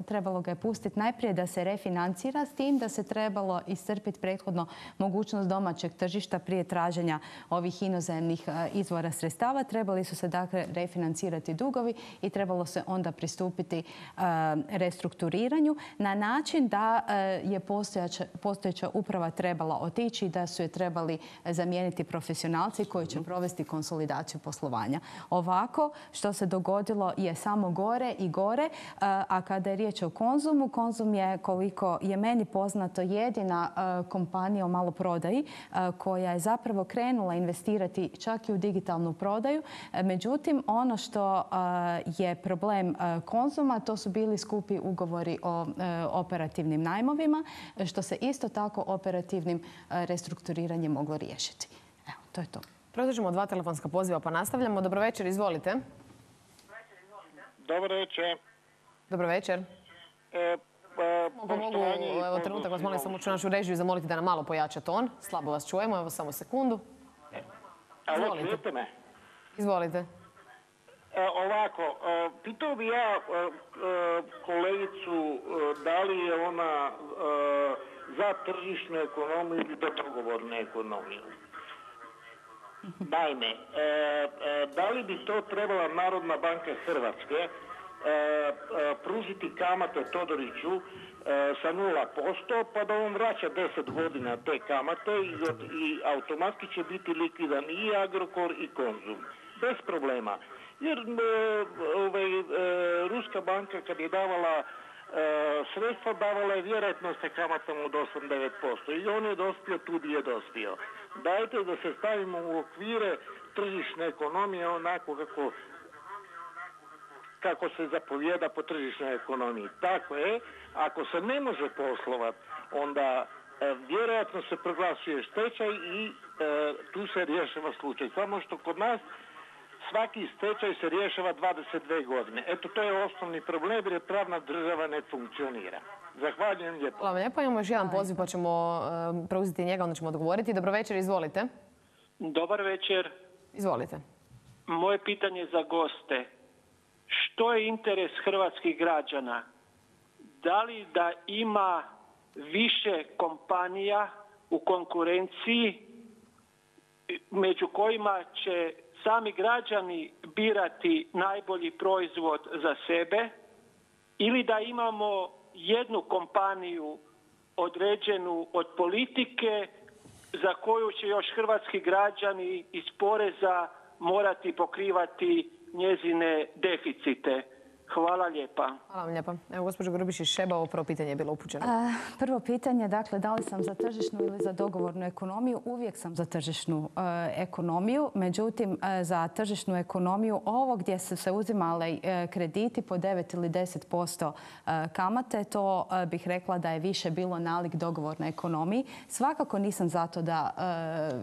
Trebalo ga je pustiti najprije da se refinancira, s tim da se trebalo iscrpiti prethodno mogućnost domaćeg tržišta prije traženja ovih inozemnih izvora sredstava. Trebali su se, dakle, refinancirati dugovi i trebalo se onda pristupiti restrukturiranju na način da je postojeća uprava trebala otići i da su je trebali zamijeniti profesionalci koji će provesti konsolidaciju poslovanja. Ovako, što se dogodilo je samo gore i gore, a kada je riječ o Konzumu, Konzum je, koliko je meni poznato, jedina kompanija u maloprodaji koja je zapravo krenula investirati čak i u digitalnu prodaju. Međutim, ono što je problem Konzuma, to su bili skupi ugovori o operativnim najmovima, što se isto tako operativnim restrukturiranjem moglo riješiti. Evo, to je to. Produžimo 2 telefonska poziva pa nastavljamo. Dobro večer, izvolite. Dobro večer. Dobro večer. Mogu, evo trenutak vas molim samo ću našu režiju zamoliti da nam malo pojača ton. Slabo vas čujemo, evo samo sekundu. Alo, čujete me? Izvolite. Ovako, pitao bi ja kolegicu da li je ona za tržišnu ekonomiju ili za dogovornu ekonomiju. Naime, da li bi to trebala Narodna banka Hrvatske pružiti kamate Todoriću sa 0%, pa da on vraća 10 godina te kamate i automatski će biti likvidan i Agrokor i Konzum. Bez problema. Jer Ruska banka kad je davala sredstva, davala je vjerojatno sa kamatom od 8-9%. I on je dospio tu gdje je dospio. Dajte da se stavimo u okvire tržišne ekonomije onako kako se zapovijeda po tržišnoj ekonomiji. Tako je, ako se ne može poslovati, onda vjerojatno se proglasuje stečaj i tu se rješava slučaj. Samo što kod nas svaki stečaj se rješava 22 godine. Eto, to je osnovni problem jer pravna država ne funkcionira. Zahvaljujem lijepo. Hvala lijepo. Imamo još jedan poziv pa ćemo preuzeti njega, onda ćemo odgovoriti. Dobro večer, izvolite. Dobar večer. Izvolite. Moje pitanje za goste. Što je interes hrvatskih građana? Da li da ima više kompanija u konkurenciji među kojima će sami građani birati najbolji proizvod za sebe ili da imamo jednu kompaniju određenu od politike za koju će još hrvatski građani iz poreza morati pokrivati njezine deficite. Hvala lijepa. Hvala vam lijepa. Evo, gospođo Grubišić-Šeba, ovo prvo pitanje je bilo upućeno. Prvo pitanje, dakle, da li sam za tržišnu ili za dogovornu ekonomiju? Uvijek sam za tržišnu ekonomiju. Međutim, za tržišnu ekonomiju, ovo gdje su se uzimali krediti po 9 ili 10% kamate, to bih rekla da je više bilo nalik dogovornoj ekonomiji. Svakako nisam zato da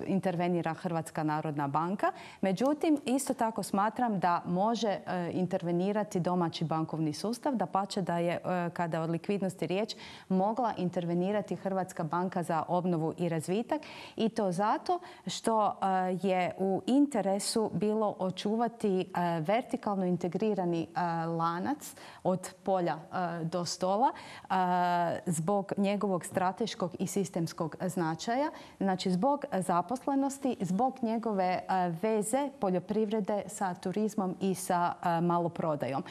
intervenira Hrvatska narodna banka. Međutim, isto tako smatram da može intervenirati domaća znači bankovni sustav, dapače da je, kada od likvidnosti riječ, mogla intervenirati Hrvatska banka za obnovu i razvitak, i to zato što je u interesu bilo očuvati vertikalno integrirani lanac od polja do stola zbog njegovog strateškog i sistemskog značaja, znači zbog zaposlenosti, zbog njegove veze poljoprivrede sa turizmom i sa maloprodajom.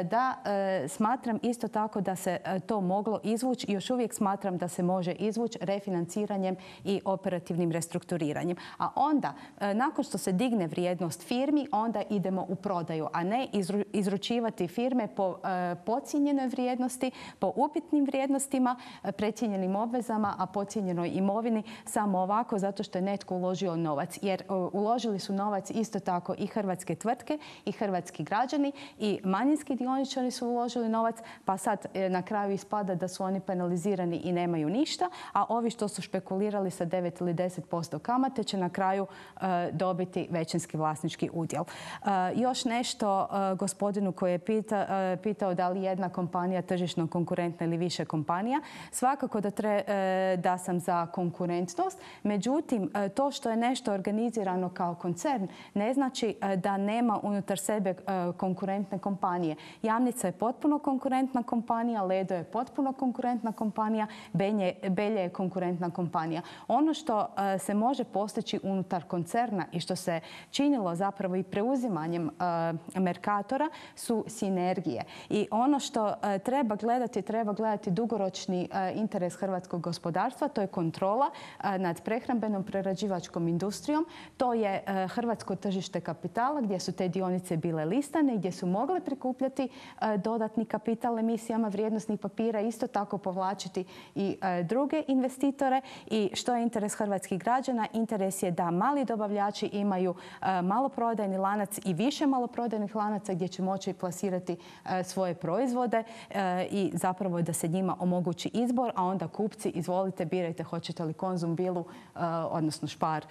Da, smatram isto tako da se to moglo izvući i još uvijek smatram da se može izvući refinanciranjem i operativnim restrukturiranjem. A onda, nakon što se digne vrijednost firmi, onda idemo u prodaju, a ne izručivati firme po podcijenjenoj vrijednosti, po upitnim vrijednostima, precijenjenim obvezama, a podcijenjenoj imovini samo ovako zato što je netko uložio novac. Jer uložili su novac isto tako i hrvatske tvrtke i hrvatski građani i manjinski dioničari su uložili novac, pa sad na kraju ispada da su oni penalizirani i nemaju ništa, a ovi što su špekulirali sa 9 ili 10% kamate će na kraju dobiti većinski vlasnički udjel. Još nešto gospodinu koji je pitao da li jedna kompanija tržišno konkurentna ili više kompanija. Svakako da sam za konkurentnost, međutim to što je nešto organizirano kao koncern ne znači da nema unutar sebe konkurentne kompanije. Jamnica je potpuno konkurentna kompanija, Ledo je potpuno konkurentna kompanija, Belje je konkurentna kompanija. Ono što se može postići unutar koncerna i što se činilo zapravo i preuzimanjem Mercatora su sinergije. I ono što treba gledati dugoročni interes hrvatskog gospodarstva, to je kontrola nad prehrambenom prerađivačkom industrijom, to je hrvatsko tržište kapitala gdje su te dionice bile listane, gdje su mogle prikupljati dodatni kapital emisijama vrijednosnih papira, isto tako povlačiti i druge investitore. I što je interes hrvatskih građana? Interes je da mali dobavljači imaju maloprodajni lanac i više maloprodajnih lanaca gdje će moći plasirati svoje proizvode i zapravo da se njima omogući izbor, a onda kupci, izvolite, birajte hoćete li Konzum, Bilu, odnosno Spar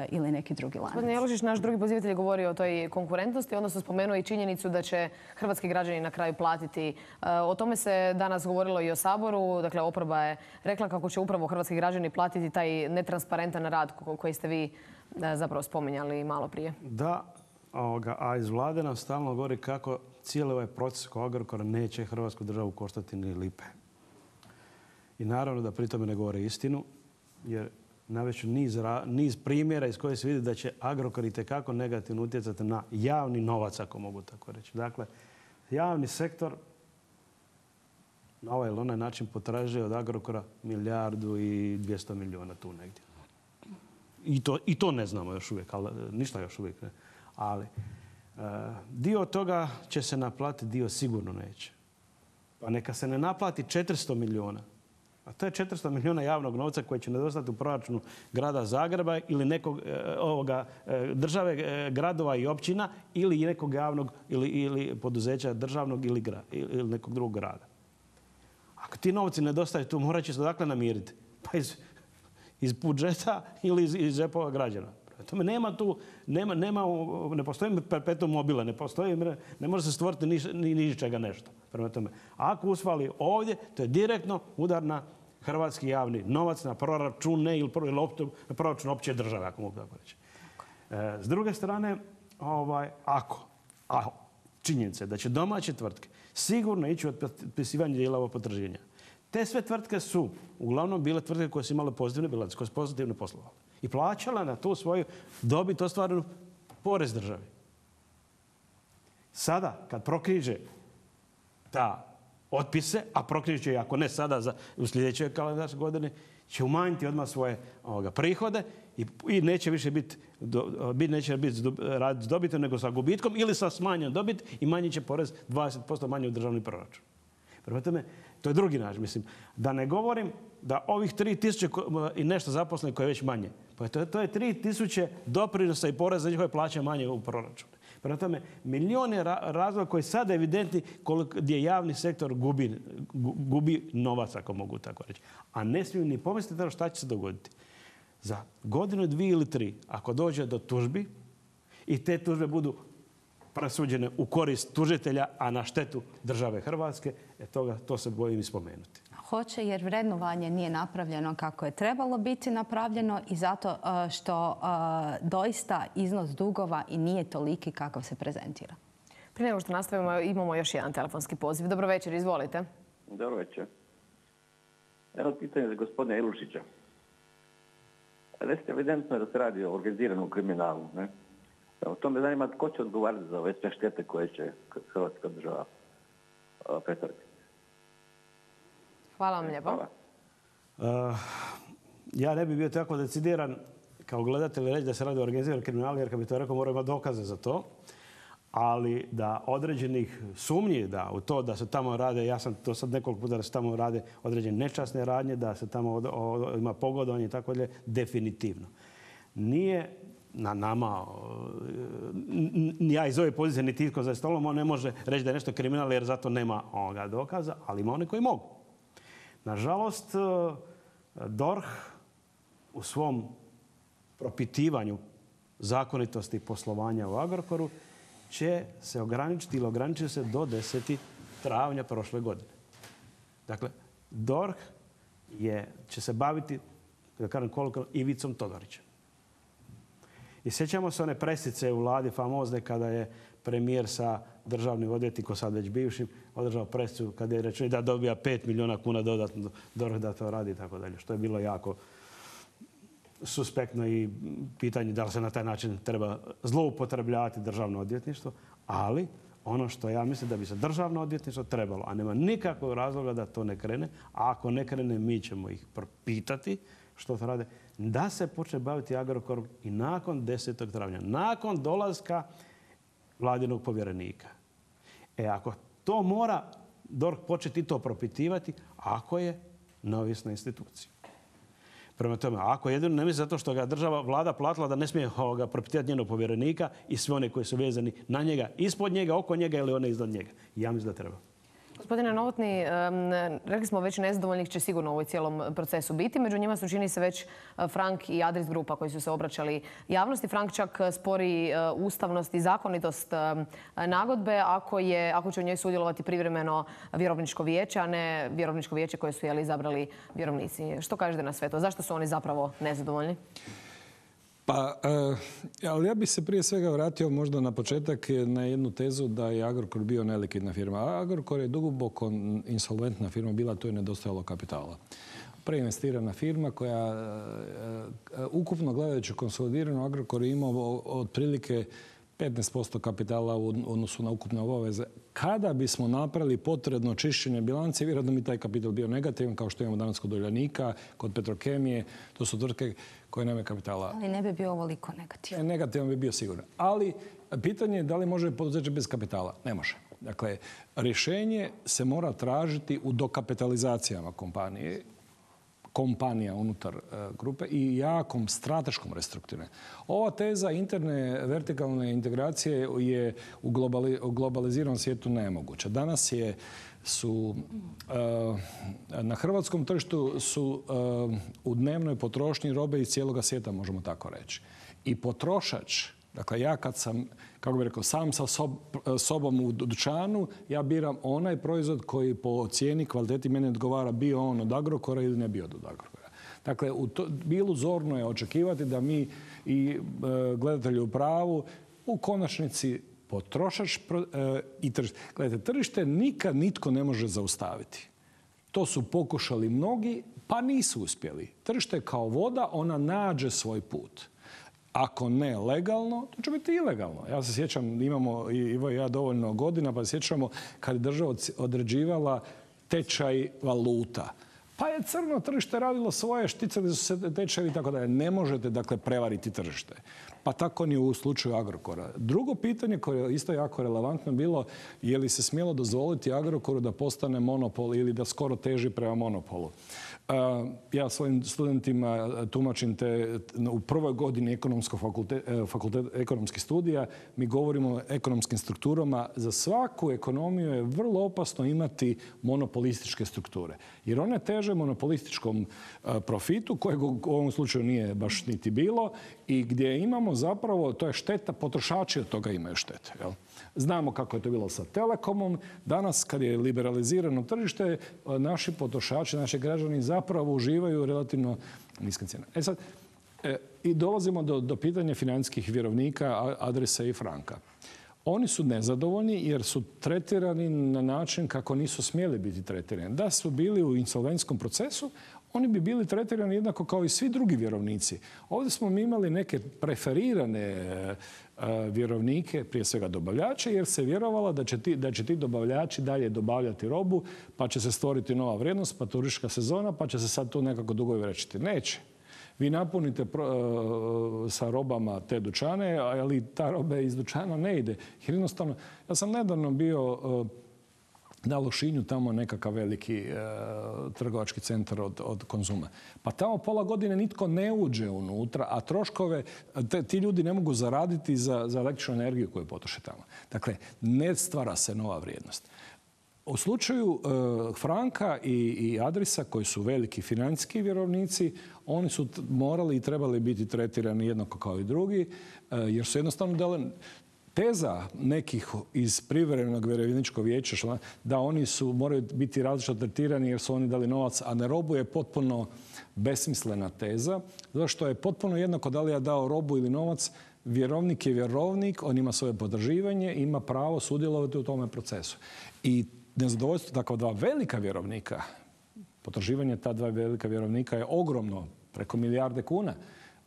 ili neki drugi lanac. Gospodin Jelušić, naš drugi pozivatelj, govorio o toj konkurentnosti, odnosno spomenuo i činjenicu da će hrvatski građani na kraju platiti. O tome se danas govorilo i o Saboru. Dakle, oporba je rekla kako će upravo hrvatski građani platiti taj netransparentan rad koji ste vi zapravo spominjali malo prije. Da, a iz vlade nam stalno govori kako cijeli ovaj proces oko Agrokora neće hrvatsku državu koštati ni lipe. I naravno da pri tome ne govore istinu, jer navešću niz primjera iz koje se vidi da će Agrokor itekako negativno utjecati na javni novac, ako mogu tako reći. Dakle, javni sektor na ovaj ili onaj način potražuje od Agrokora 1,2 milijarde tu negdje. I to ne znamo još uvijek, ali ništa još uvijek ne. Ali dio toga će se naplatiti, dio sigurno neće. Pa neka se ne naplati 400 milijuna. A to je 400 milijuna javnog novca koji će nedostati u proračunu grada Zagreba ili nekog države, gradova i općina ili nekog javnog ili poduzeća državnog ili nekog drugog grada. Ako ti novci nedostaju tu, morat će se odakle namiriti. Pa iz budžeta ili iz džepova građana. Tome nema tu, ne postoji perpetuum mobile, ne može se stvoriti ni ničega nešto. Prema tome, ako usvali ovdje, to je direktno udar na hrvatski javni novac, na proračune ili na proračun opće države, ako mogu tako reći. S druge strane, činjenica je da će domaće tvrtke sigurno ići od otpisivanja dijela ovog potraživanja. Te sve tvrtke su uglavnom bile tvrtke koje su imale pozitivne bilance, koje su pozitivno poslovale. I plaćala na tu svoju dobit ostvarenu porez državi. Sada, kad prokriže ta otpise, a prokriže će, ako ne sada, u sljedećoj kalendarskoj godini, će umanjiti odmah svoje prihode i neće više biti raditi s dobitom nego sa gubitkom ili sa smanjenom dobit i manji će porez 20% manje u državni proračun. Prema tome, to je drugi način. Mislim, da ne govorim da ovih 3.000 i nešto zaposlenih koje je već manje. Pa to je 3.000 doprinosa i poreza za njihove plaće manje u proračunu. Prema tome, milijun je razloga koji sad evidentni gdje javni sektor gubi novac, ako mogu tako reći. A ne smiju ni pomisliti šta će se dogoditi. Za godinu, 2 ili 3, ako dođe do tužbi i te tužbe budu presuđene u korist tužitelja, a na štetu države Hrvatske. To se bojim i spomenuti. Hoće, jer vrednovanje nije napravljeno kako je trebalo biti napravljeno i zato što doista iznos dugova i nije toliki kakav se prezentira. Prije nego što nastavimo, imamo još jedan telefonski poziv. Dobro večer, izvolite. Dobro večer. Jedno pitanje za gospodina Ilušića. Recite, evidentno je da se radi o organiziranom kriminalu. Ne? O tome zanima tko će odgovarati za ove sve štete koje će Hrvatska država pretrpiti. Hvala vam lijepo. Ja ne bih bio tako decidiran kao gledatelj reći da se radi o organiziranom kriminalu, jer kad bi to rekao moramo imati dokaze za to. Ali da određenih sumnji da u to da se tamo rade, ja sam to sad nekoliko puta da se tamo rade određene nečasne radnje, da se tamo ima pogodovanje i tako dalje, definitivno. Nije na nama, ja iz ove pozicije niti itko za stolom, on ne može reći da je nešto kriminal jer zato nema dokaza, ali ima oni koji mogu. Nažalost, DORH u svom propitivanju zakonitosti poslovanja u Agrokoru će se ograničiti ili ograničiti se do 10. travnja prošle godine. Dakle, DORH će se baviti, da kažem koliko, Ivicom Todorićem. I sjećamo se one presice u vladi famozne kada je premijer sa državnim odvjetnikom, sad već bivšim, održao presicu kada je rečeno da dobija 5 milijuna kuna dodatno DORH da to radi i tako dalje. Što je bilo jako suspektno i pitanje da li se na taj način treba zloupotrebljavati državno odvjetništvo, ali ono što ja mislim da bi se državno odvjetništvo trebalo, a nema nikakvog razloga da to ne krene, a ako ne krene mi ćemo ih propitati što to rade, da se počne baviti Agrokorom i nakon 10. travnja, nakon dolaska vladinog povjerenika. Ako to mora DORH početi to propitivati, ako je neovisna institucija. Prema tome, ako jedino ne misli zato što ga vlada platila da ne smije propitivati njenog povjerenika i sve one koji su vezani na njega, ispod njega, oko njega ili one iznad njega. Ja mislim da treba. Gospodine Novotny, rekli smo već nezadovoljnih će sigurno u ovoj cijelom procesu biti. Među njima su čini se već Frank i Adris grupa koji su se obraćali javnosti. Frank čak spori ustavnost i zakonitost nagodbe ako će u njoj sudjelovati privremeno vjerovničko vijeće, a ne vjerovničko vijeće koje su izabrali vjerovnici. Što kažete na sve to? Zašto su oni zapravo nezadovoljni? Pa, ali ja bih se prije svega vratio možda na početak na jednu tezu da je Agrokor bio nelikvidna firma. Agrokor je duboko insolventna firma bila, to je nedostajalo kapitala. Preinvestirana firma koja ukupno gledajući konsolidirano Agrokor je imao otprilike 15% kapitala u odnosu na ukupne obaveze. Kada bismo napravili potrebno čišćenje bilance, vjerojatno bi taj kapital bio negativan, kao što imamo danas kod Uljanika, kod Petrokemije. To su tvrtke koje nemaju kapitala. Ali ne bi bio ovoliko negativan. Negativan bi bio sigurno. Ali pitanje je da li može poduzeće bez kapitala? Ne može. Dakle, rješenje se mora tražiti u dokapitalizacijama kompanija unutar grupe i jakom strateškom restrukturiranju. Ova teza interne vertikalne integracije je u globaliziranom svijetu nemoguća. Danas su na hrvatskom tržištu su u dnevnoj potrošnji robe iz cijeloga svijeta, možemo tako reći. I potrošač, dakle ja kad sam, kako bih rekao, sam sa sobom u dućanu, ja biram onaj proizvod koji po cijeni, kvaliteti mene odgovara, bio on od Agrokora ili ne bio od Agrokora. Dakle, bilo zorno je očekivati da mi i gledatelji u pravu u konačnici potrošač i tržište. Gledajte, tržište nikad nitko ne može zaustaviti. To su pokušali mnogi, pa nisu uspjeli. Tržište je kao voda, ona nađe svoj put. Ako ne legalno, to će biti ilegalno. Ja se sjećam, imamo Ivo i ja dovoljno godina, pa se sjećamo kad je država određivala tečaj valuta. Pa je crno tržište radilo svoje, šticali su se tečajevi i tako dalje. Ne možete, dakle, prevariti tržište. Pa tako ni u slučaju Agrokora. Drugo pitanje koje je isto jako relevantno bilo, je li se smjelo dozvoliti Agrokoru da postane monopol ili da skoro teži prema monopolu. Ja svojim studentima tumačim u prvoj godini ekonomskih studija, mi govorimo o ekonomskim strukturama. Za svaku ekonomiju je vrlo opasno imati monopolističke strukture. Jer one teže monopolističkom profitu, kojeg u ovom slučaju nije baš niti bilo, i gdje imamo zapravo, to je šteta, potrošači od toga imaju štete. Jel? Znamo kako je to bilo sa Telekomom. Danas, kad je liberalizirano tržište, naši potrošači, naši građani zapravo uživaju relativno niske cijene. Sad, i dolazimo do pitanja financijskih vjerovnika Adrisa i Franka. Oni su nezadovoljni jer su tretirani na način kako nisu smjeli biti tretirani. Da su bili u insolventskom procesu, oni bi bili tretirani jednako kao i svi drugi vjerovnici. Ovdje smo mi imali neke preferirane vjerovnike, prije svega dobavljače, jer se vjerovalo da će ti dobavljači dalje dobavljati robu, pa će se stvoriti nova vrijednost, pa turistička sezona, pa će se sad tu nekako dugovi vraćati. Neće. Vi napunite sa robama te dućane, ali ta roba iz dućana ne ide. Jer jednostavno, ja sam nedavno bio na Lošinju, tamo nekakav veliki trgovački centar od Konzuma. Pa tamo pola godine nitko ne uđe unutra, a troškove ti ljudi ne mogu zaraditi za električnu energiju koju potroše tamo. Dakle, ne stvara se nova vrijednost. U slučaju Franka i Adrisa, koji su veliki financijski vjerovnici, oni su morali i trebali biti tretirani jednako kao i drugi, jer su jednostavno dali teza nekih iz privremenog vjerovničkog vijeća da oni moraju biti različito tretirani jer su oni dali novac, a ne robu, je potpuno besmislena teza. Zato što je potpuno jednako da li ja dao robu ili novac, vjerovnik je vjerovnik, on ima svoje potraživanje i ima pravo sudjelovati u tome procesu. I nezadovoljstvo takva dva velika vjerovnika, potraživanje ta dva velika vjerovnika je ogromno, preko milijarde kuna,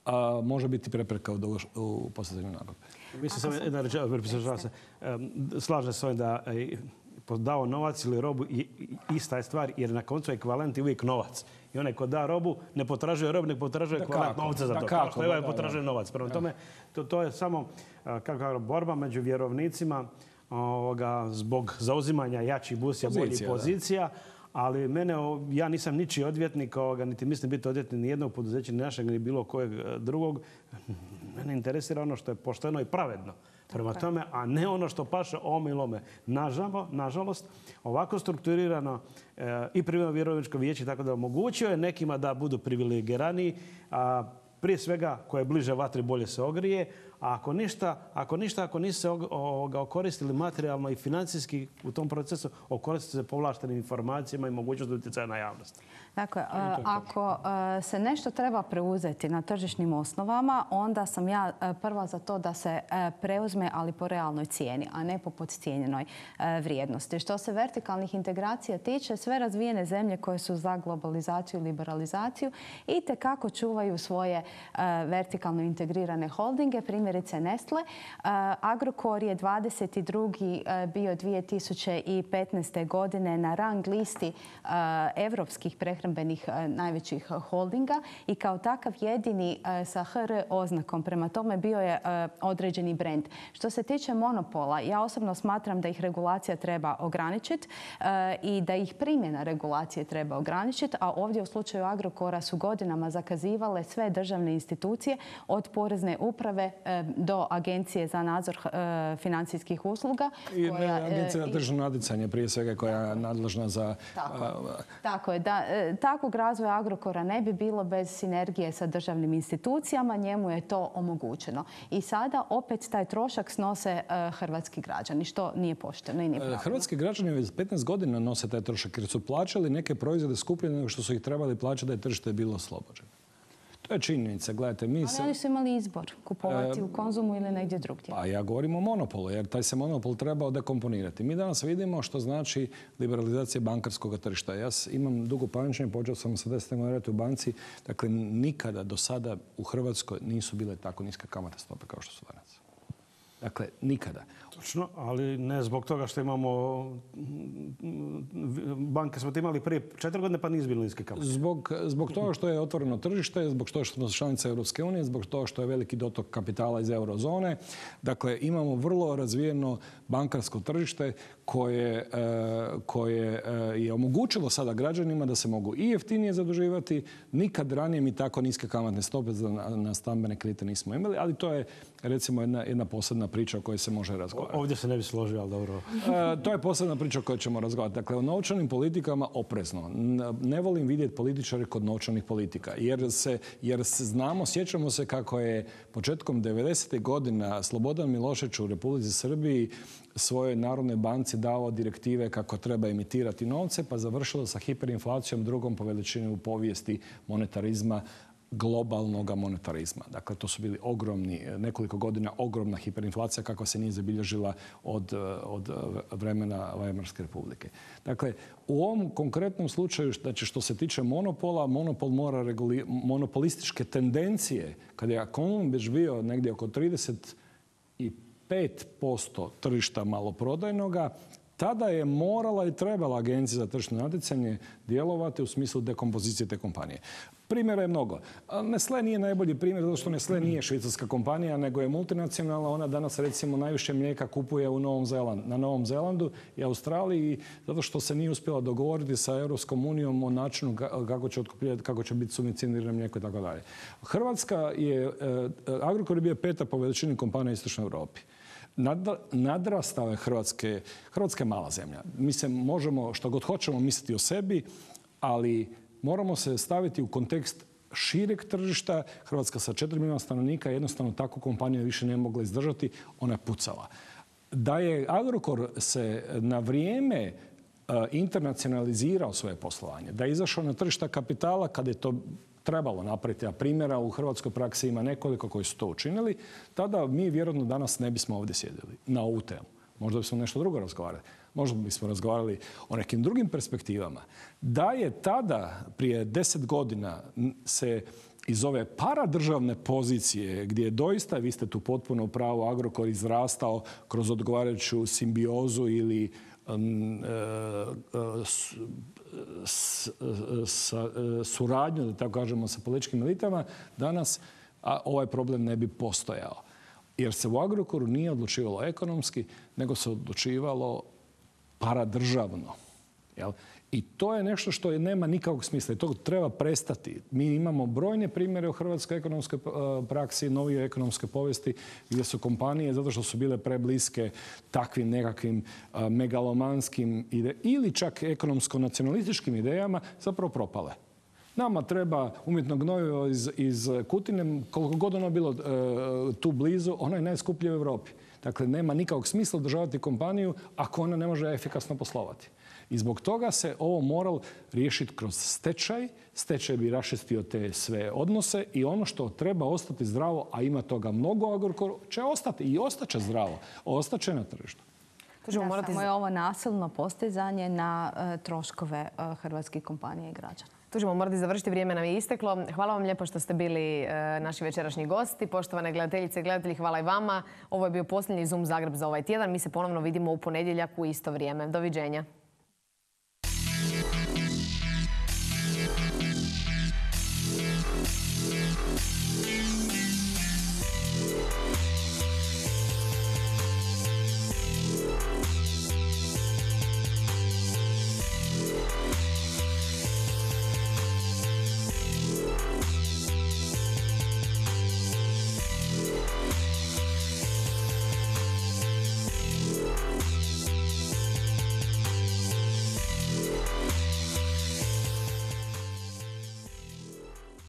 a može biti prepreka u postizanju nagodbe. Mislim slažem se ovim da dao novac ili robu ista je stvar, jer na koncu ekvivalent je uvijek novac. I onaj ko da robu ne potražuje robu, ne potražuje ekvivalent novca za to. Kao što je ovaj potražuje novac. Prema tome, to je samo borba među vjerovnicima zbog zauzimanja jačih busija, boljih pozicija. Ali ja nisam ničiji odvjetnik, niti mislim biti odvjetnik ni jednog poduzeća, ni našeg, ni bilo kojeg drugog. Mene interesira ono što je pošteno i pravedno. Prema tome, a ne ono što paše ome ili ome. Nažalost, ovako strukturirano i privremeno vjerovničko vijeće tako da omogućio je nekima da budu privilegiraniji, prije svega ko je bliže vatri bolje se ogrije, a ako nisu se okoristili materijalno i financijski u tom procesu, okoristili se povlaštenim informacijama i mogućnost utjecaja na javnost. Dakle, ako se nešto treba preuzeti na tržišnim osnovama, onda sam ja prva za to da se preuzme, ali po realnoj cijeni, a ne po podcijenjenoj vrijednosti. Što se vertikalnih integracija tiče, sve razvijene zemlje koje su za globalizaciju i liberalizaciju itekako čuvaju svoje vertikalno integrirane holdinge, primjerice Nestle. Agrokor je 22. bio 2015. godine na rang listi evropskih prehrambenih najvećih holdinga i kao takav jedini sa HR oznakom. Prema tome bio je određeni brend. Što se tiče monopola, ja osobno smatram da ih regulacija treba ograničiti i da ih primjena regulacije treba ograničiti, a ovdje u slučaju Agrokora su godinama zakazivale sve državne institucije od porezne uprave do Agencije za nadzor financijskih usluga. I Agencija za tržno natjecanje prije svega koja je nadležna za... Tako je. Takvog razvoja Agrokora ne bi bilo bez sinergije sa državnim institucijama. Njemu je to omogućeno. I sada opet taj trošak snose hrvatski građani, što nije pošteno i nije pravilno. Hrvatski građani već 15 godina nose taj trošak jer su plaćali neke proizvode skuplje nego što su ih trebali plaćati da je tržište bilo oslobođeno. To je činjenica. Gledajte, ali oni su imali izbor kupovati u Konzumu ili negdje drugdje. Pa ja govorim o monopolu, jer taj se monopol trebao dekomponirati. Mi danas vidimo što znači liberalizacija bankarskog tržišta. Ja imam dugo pamćenje, počeo sam sa 10 godina raditi u banci. Dakle, nikada do sada u Hrvatskoj nisu bile tako niske kamatne stope kao što su danas. Dakle, nikada. Točno, ali ne zbog toga što imamo... Banke smo imali prije 4 godine pa nisu bili niske kamate. Zbog toga što je otvoreno tržište, zbog toga što smo članica Europske unije, zbog toga što je veliki dotok kapitala iz eurozone. Dakle, imamo vrlo razvijeno bankarsko tržište koje je omogućilo sada građanima da se mogu i jeftinije zaduživati. Nikad ranije mi tako niske kamatne stope na stambene kredite nismo imali, ali to je recimo jedna posebna priča o kojoj se može razgovarati. Ovdje se ne bi složio, ali dobro. To je posebna priča o kojoj ćemo razgovarati. Dakle, o novčanim politikama oprezno. Ne volim vidjeti političare kod novčanih politika. Jer znamo, sjećamo se kako je početkom 90. godina Slobodan Milošević u Republici Srbiji svojoj Narodnoj banci dao direktive kako treba emitirati novce, pa završilo sa hiperinflacijom, drugom po veličini u povijesti monetarizma, globalnog monetarizma. Dakle, to su bili nekoliko godina ogromna hiperinflacija kakva se nije zabilježila od vremena Weimarske republike. Dakle, u ovom konkretnom slučaju, znači što se tiče monopola, monopol mora monopolističke tendencije, kada je Konum već bio negdje oko 35% tržišta maloprodajnoga, tada je morala i trebala Agencija za tržišno natjecanje djelovati u smislu dekompozicije te kompanije. Primjera je mnogo. Nestlé nije najbolji primjer zato što Nestlé nije švicarska kompanija, nego je multinacionalna. Ona danas recimo najviše mlijeka kupuje na Novom Zelandu i Australiji zato što se nije uspjela dogovoriti sa Europskom unijom o načinu kako će biti subvencionirano mlijeko i tako dalje. Agrokor je bio 5. po veličini kompanija u Istočnoj Europi. Nadrastao je Hrvatska je mala zemlja. Mi se možemo što god hoćemo misliti o sebi, ali moramo se staviti u kontekst šireg tržišta. Hrvatska sa 4 milijuna stanovnika jednostavno takvu kompaniju više ne mogla izdržati, ona je pucala. Da je Agrokor se na vrijeme internacionalizirao svoje poslovanje, da je izašao na tržišta kapitala kada je to trebalo napraviti, a primjera u hrvatskoj praksi ima nekoliko koji su to učinili, tada mi vjerojatno danas ne bismo ovdje sjedili na ovu temu. Možda bismo nešto drugo razgovarali. Možda bismo razgovarali o nekim drugim perspektivama. Da je tada, prije 10 godina, se iz ove paradržavne pozicije, gdje je doista, vi ste tu potpuno u pravu, Agrokor izrastao kroz odgovarajuću simbiozu ili suradnju, da tako kažemo, sa političkim elitama, danas ovaj problem ne bi postojao. Jer se u Agrokoru nije odlučivalo ekonomski, nego se odlučivalo paradržavno. I to je nešto što nema nikakvog smisla i to treba prestati. Mi imamo brojne primjere u hrvatskoj ekonomskoj praksi, novijoj ekonomskoj povijesti gdje su kompanije, zato što su bile prebliske takvim nekakvim megalomanskim ili čak ekonomsko-nacionalističkim idejama, zapravo propale. Nama treba umjetno gnojivo iz Kutine, koliko god ono bilo tu blizu, ono je najskuplje u Europi. Dakle, nema nikakvog smisla održavati kompaniju ako ona ne može efikasno poslovati. I zbog toga se ovo moral riješiti kroz stečaj. Stečaj bi raščistio te sve odnose i ono što treba ostati zdravo, a ima toga mnogo u Agrokoru, će ostati i ostaće zdravo. Ostaće na tržištu. Samo je ovo nasilno postizanje na troškove hrvatskih kompanija i građana. Tu ćemo morati završiti, vrijeme nam je isteklo. Hvala vam lijepo što ste bili naši večerašnji gosti. Poštovane gledateljice i gledatelji, hvala i vama. Ovo je bio posljednji Zoom Zagreb za ovaj tjedan. Mi se ponovno vidimo u ponedjeljak u isto vrijeme. Doviđenja.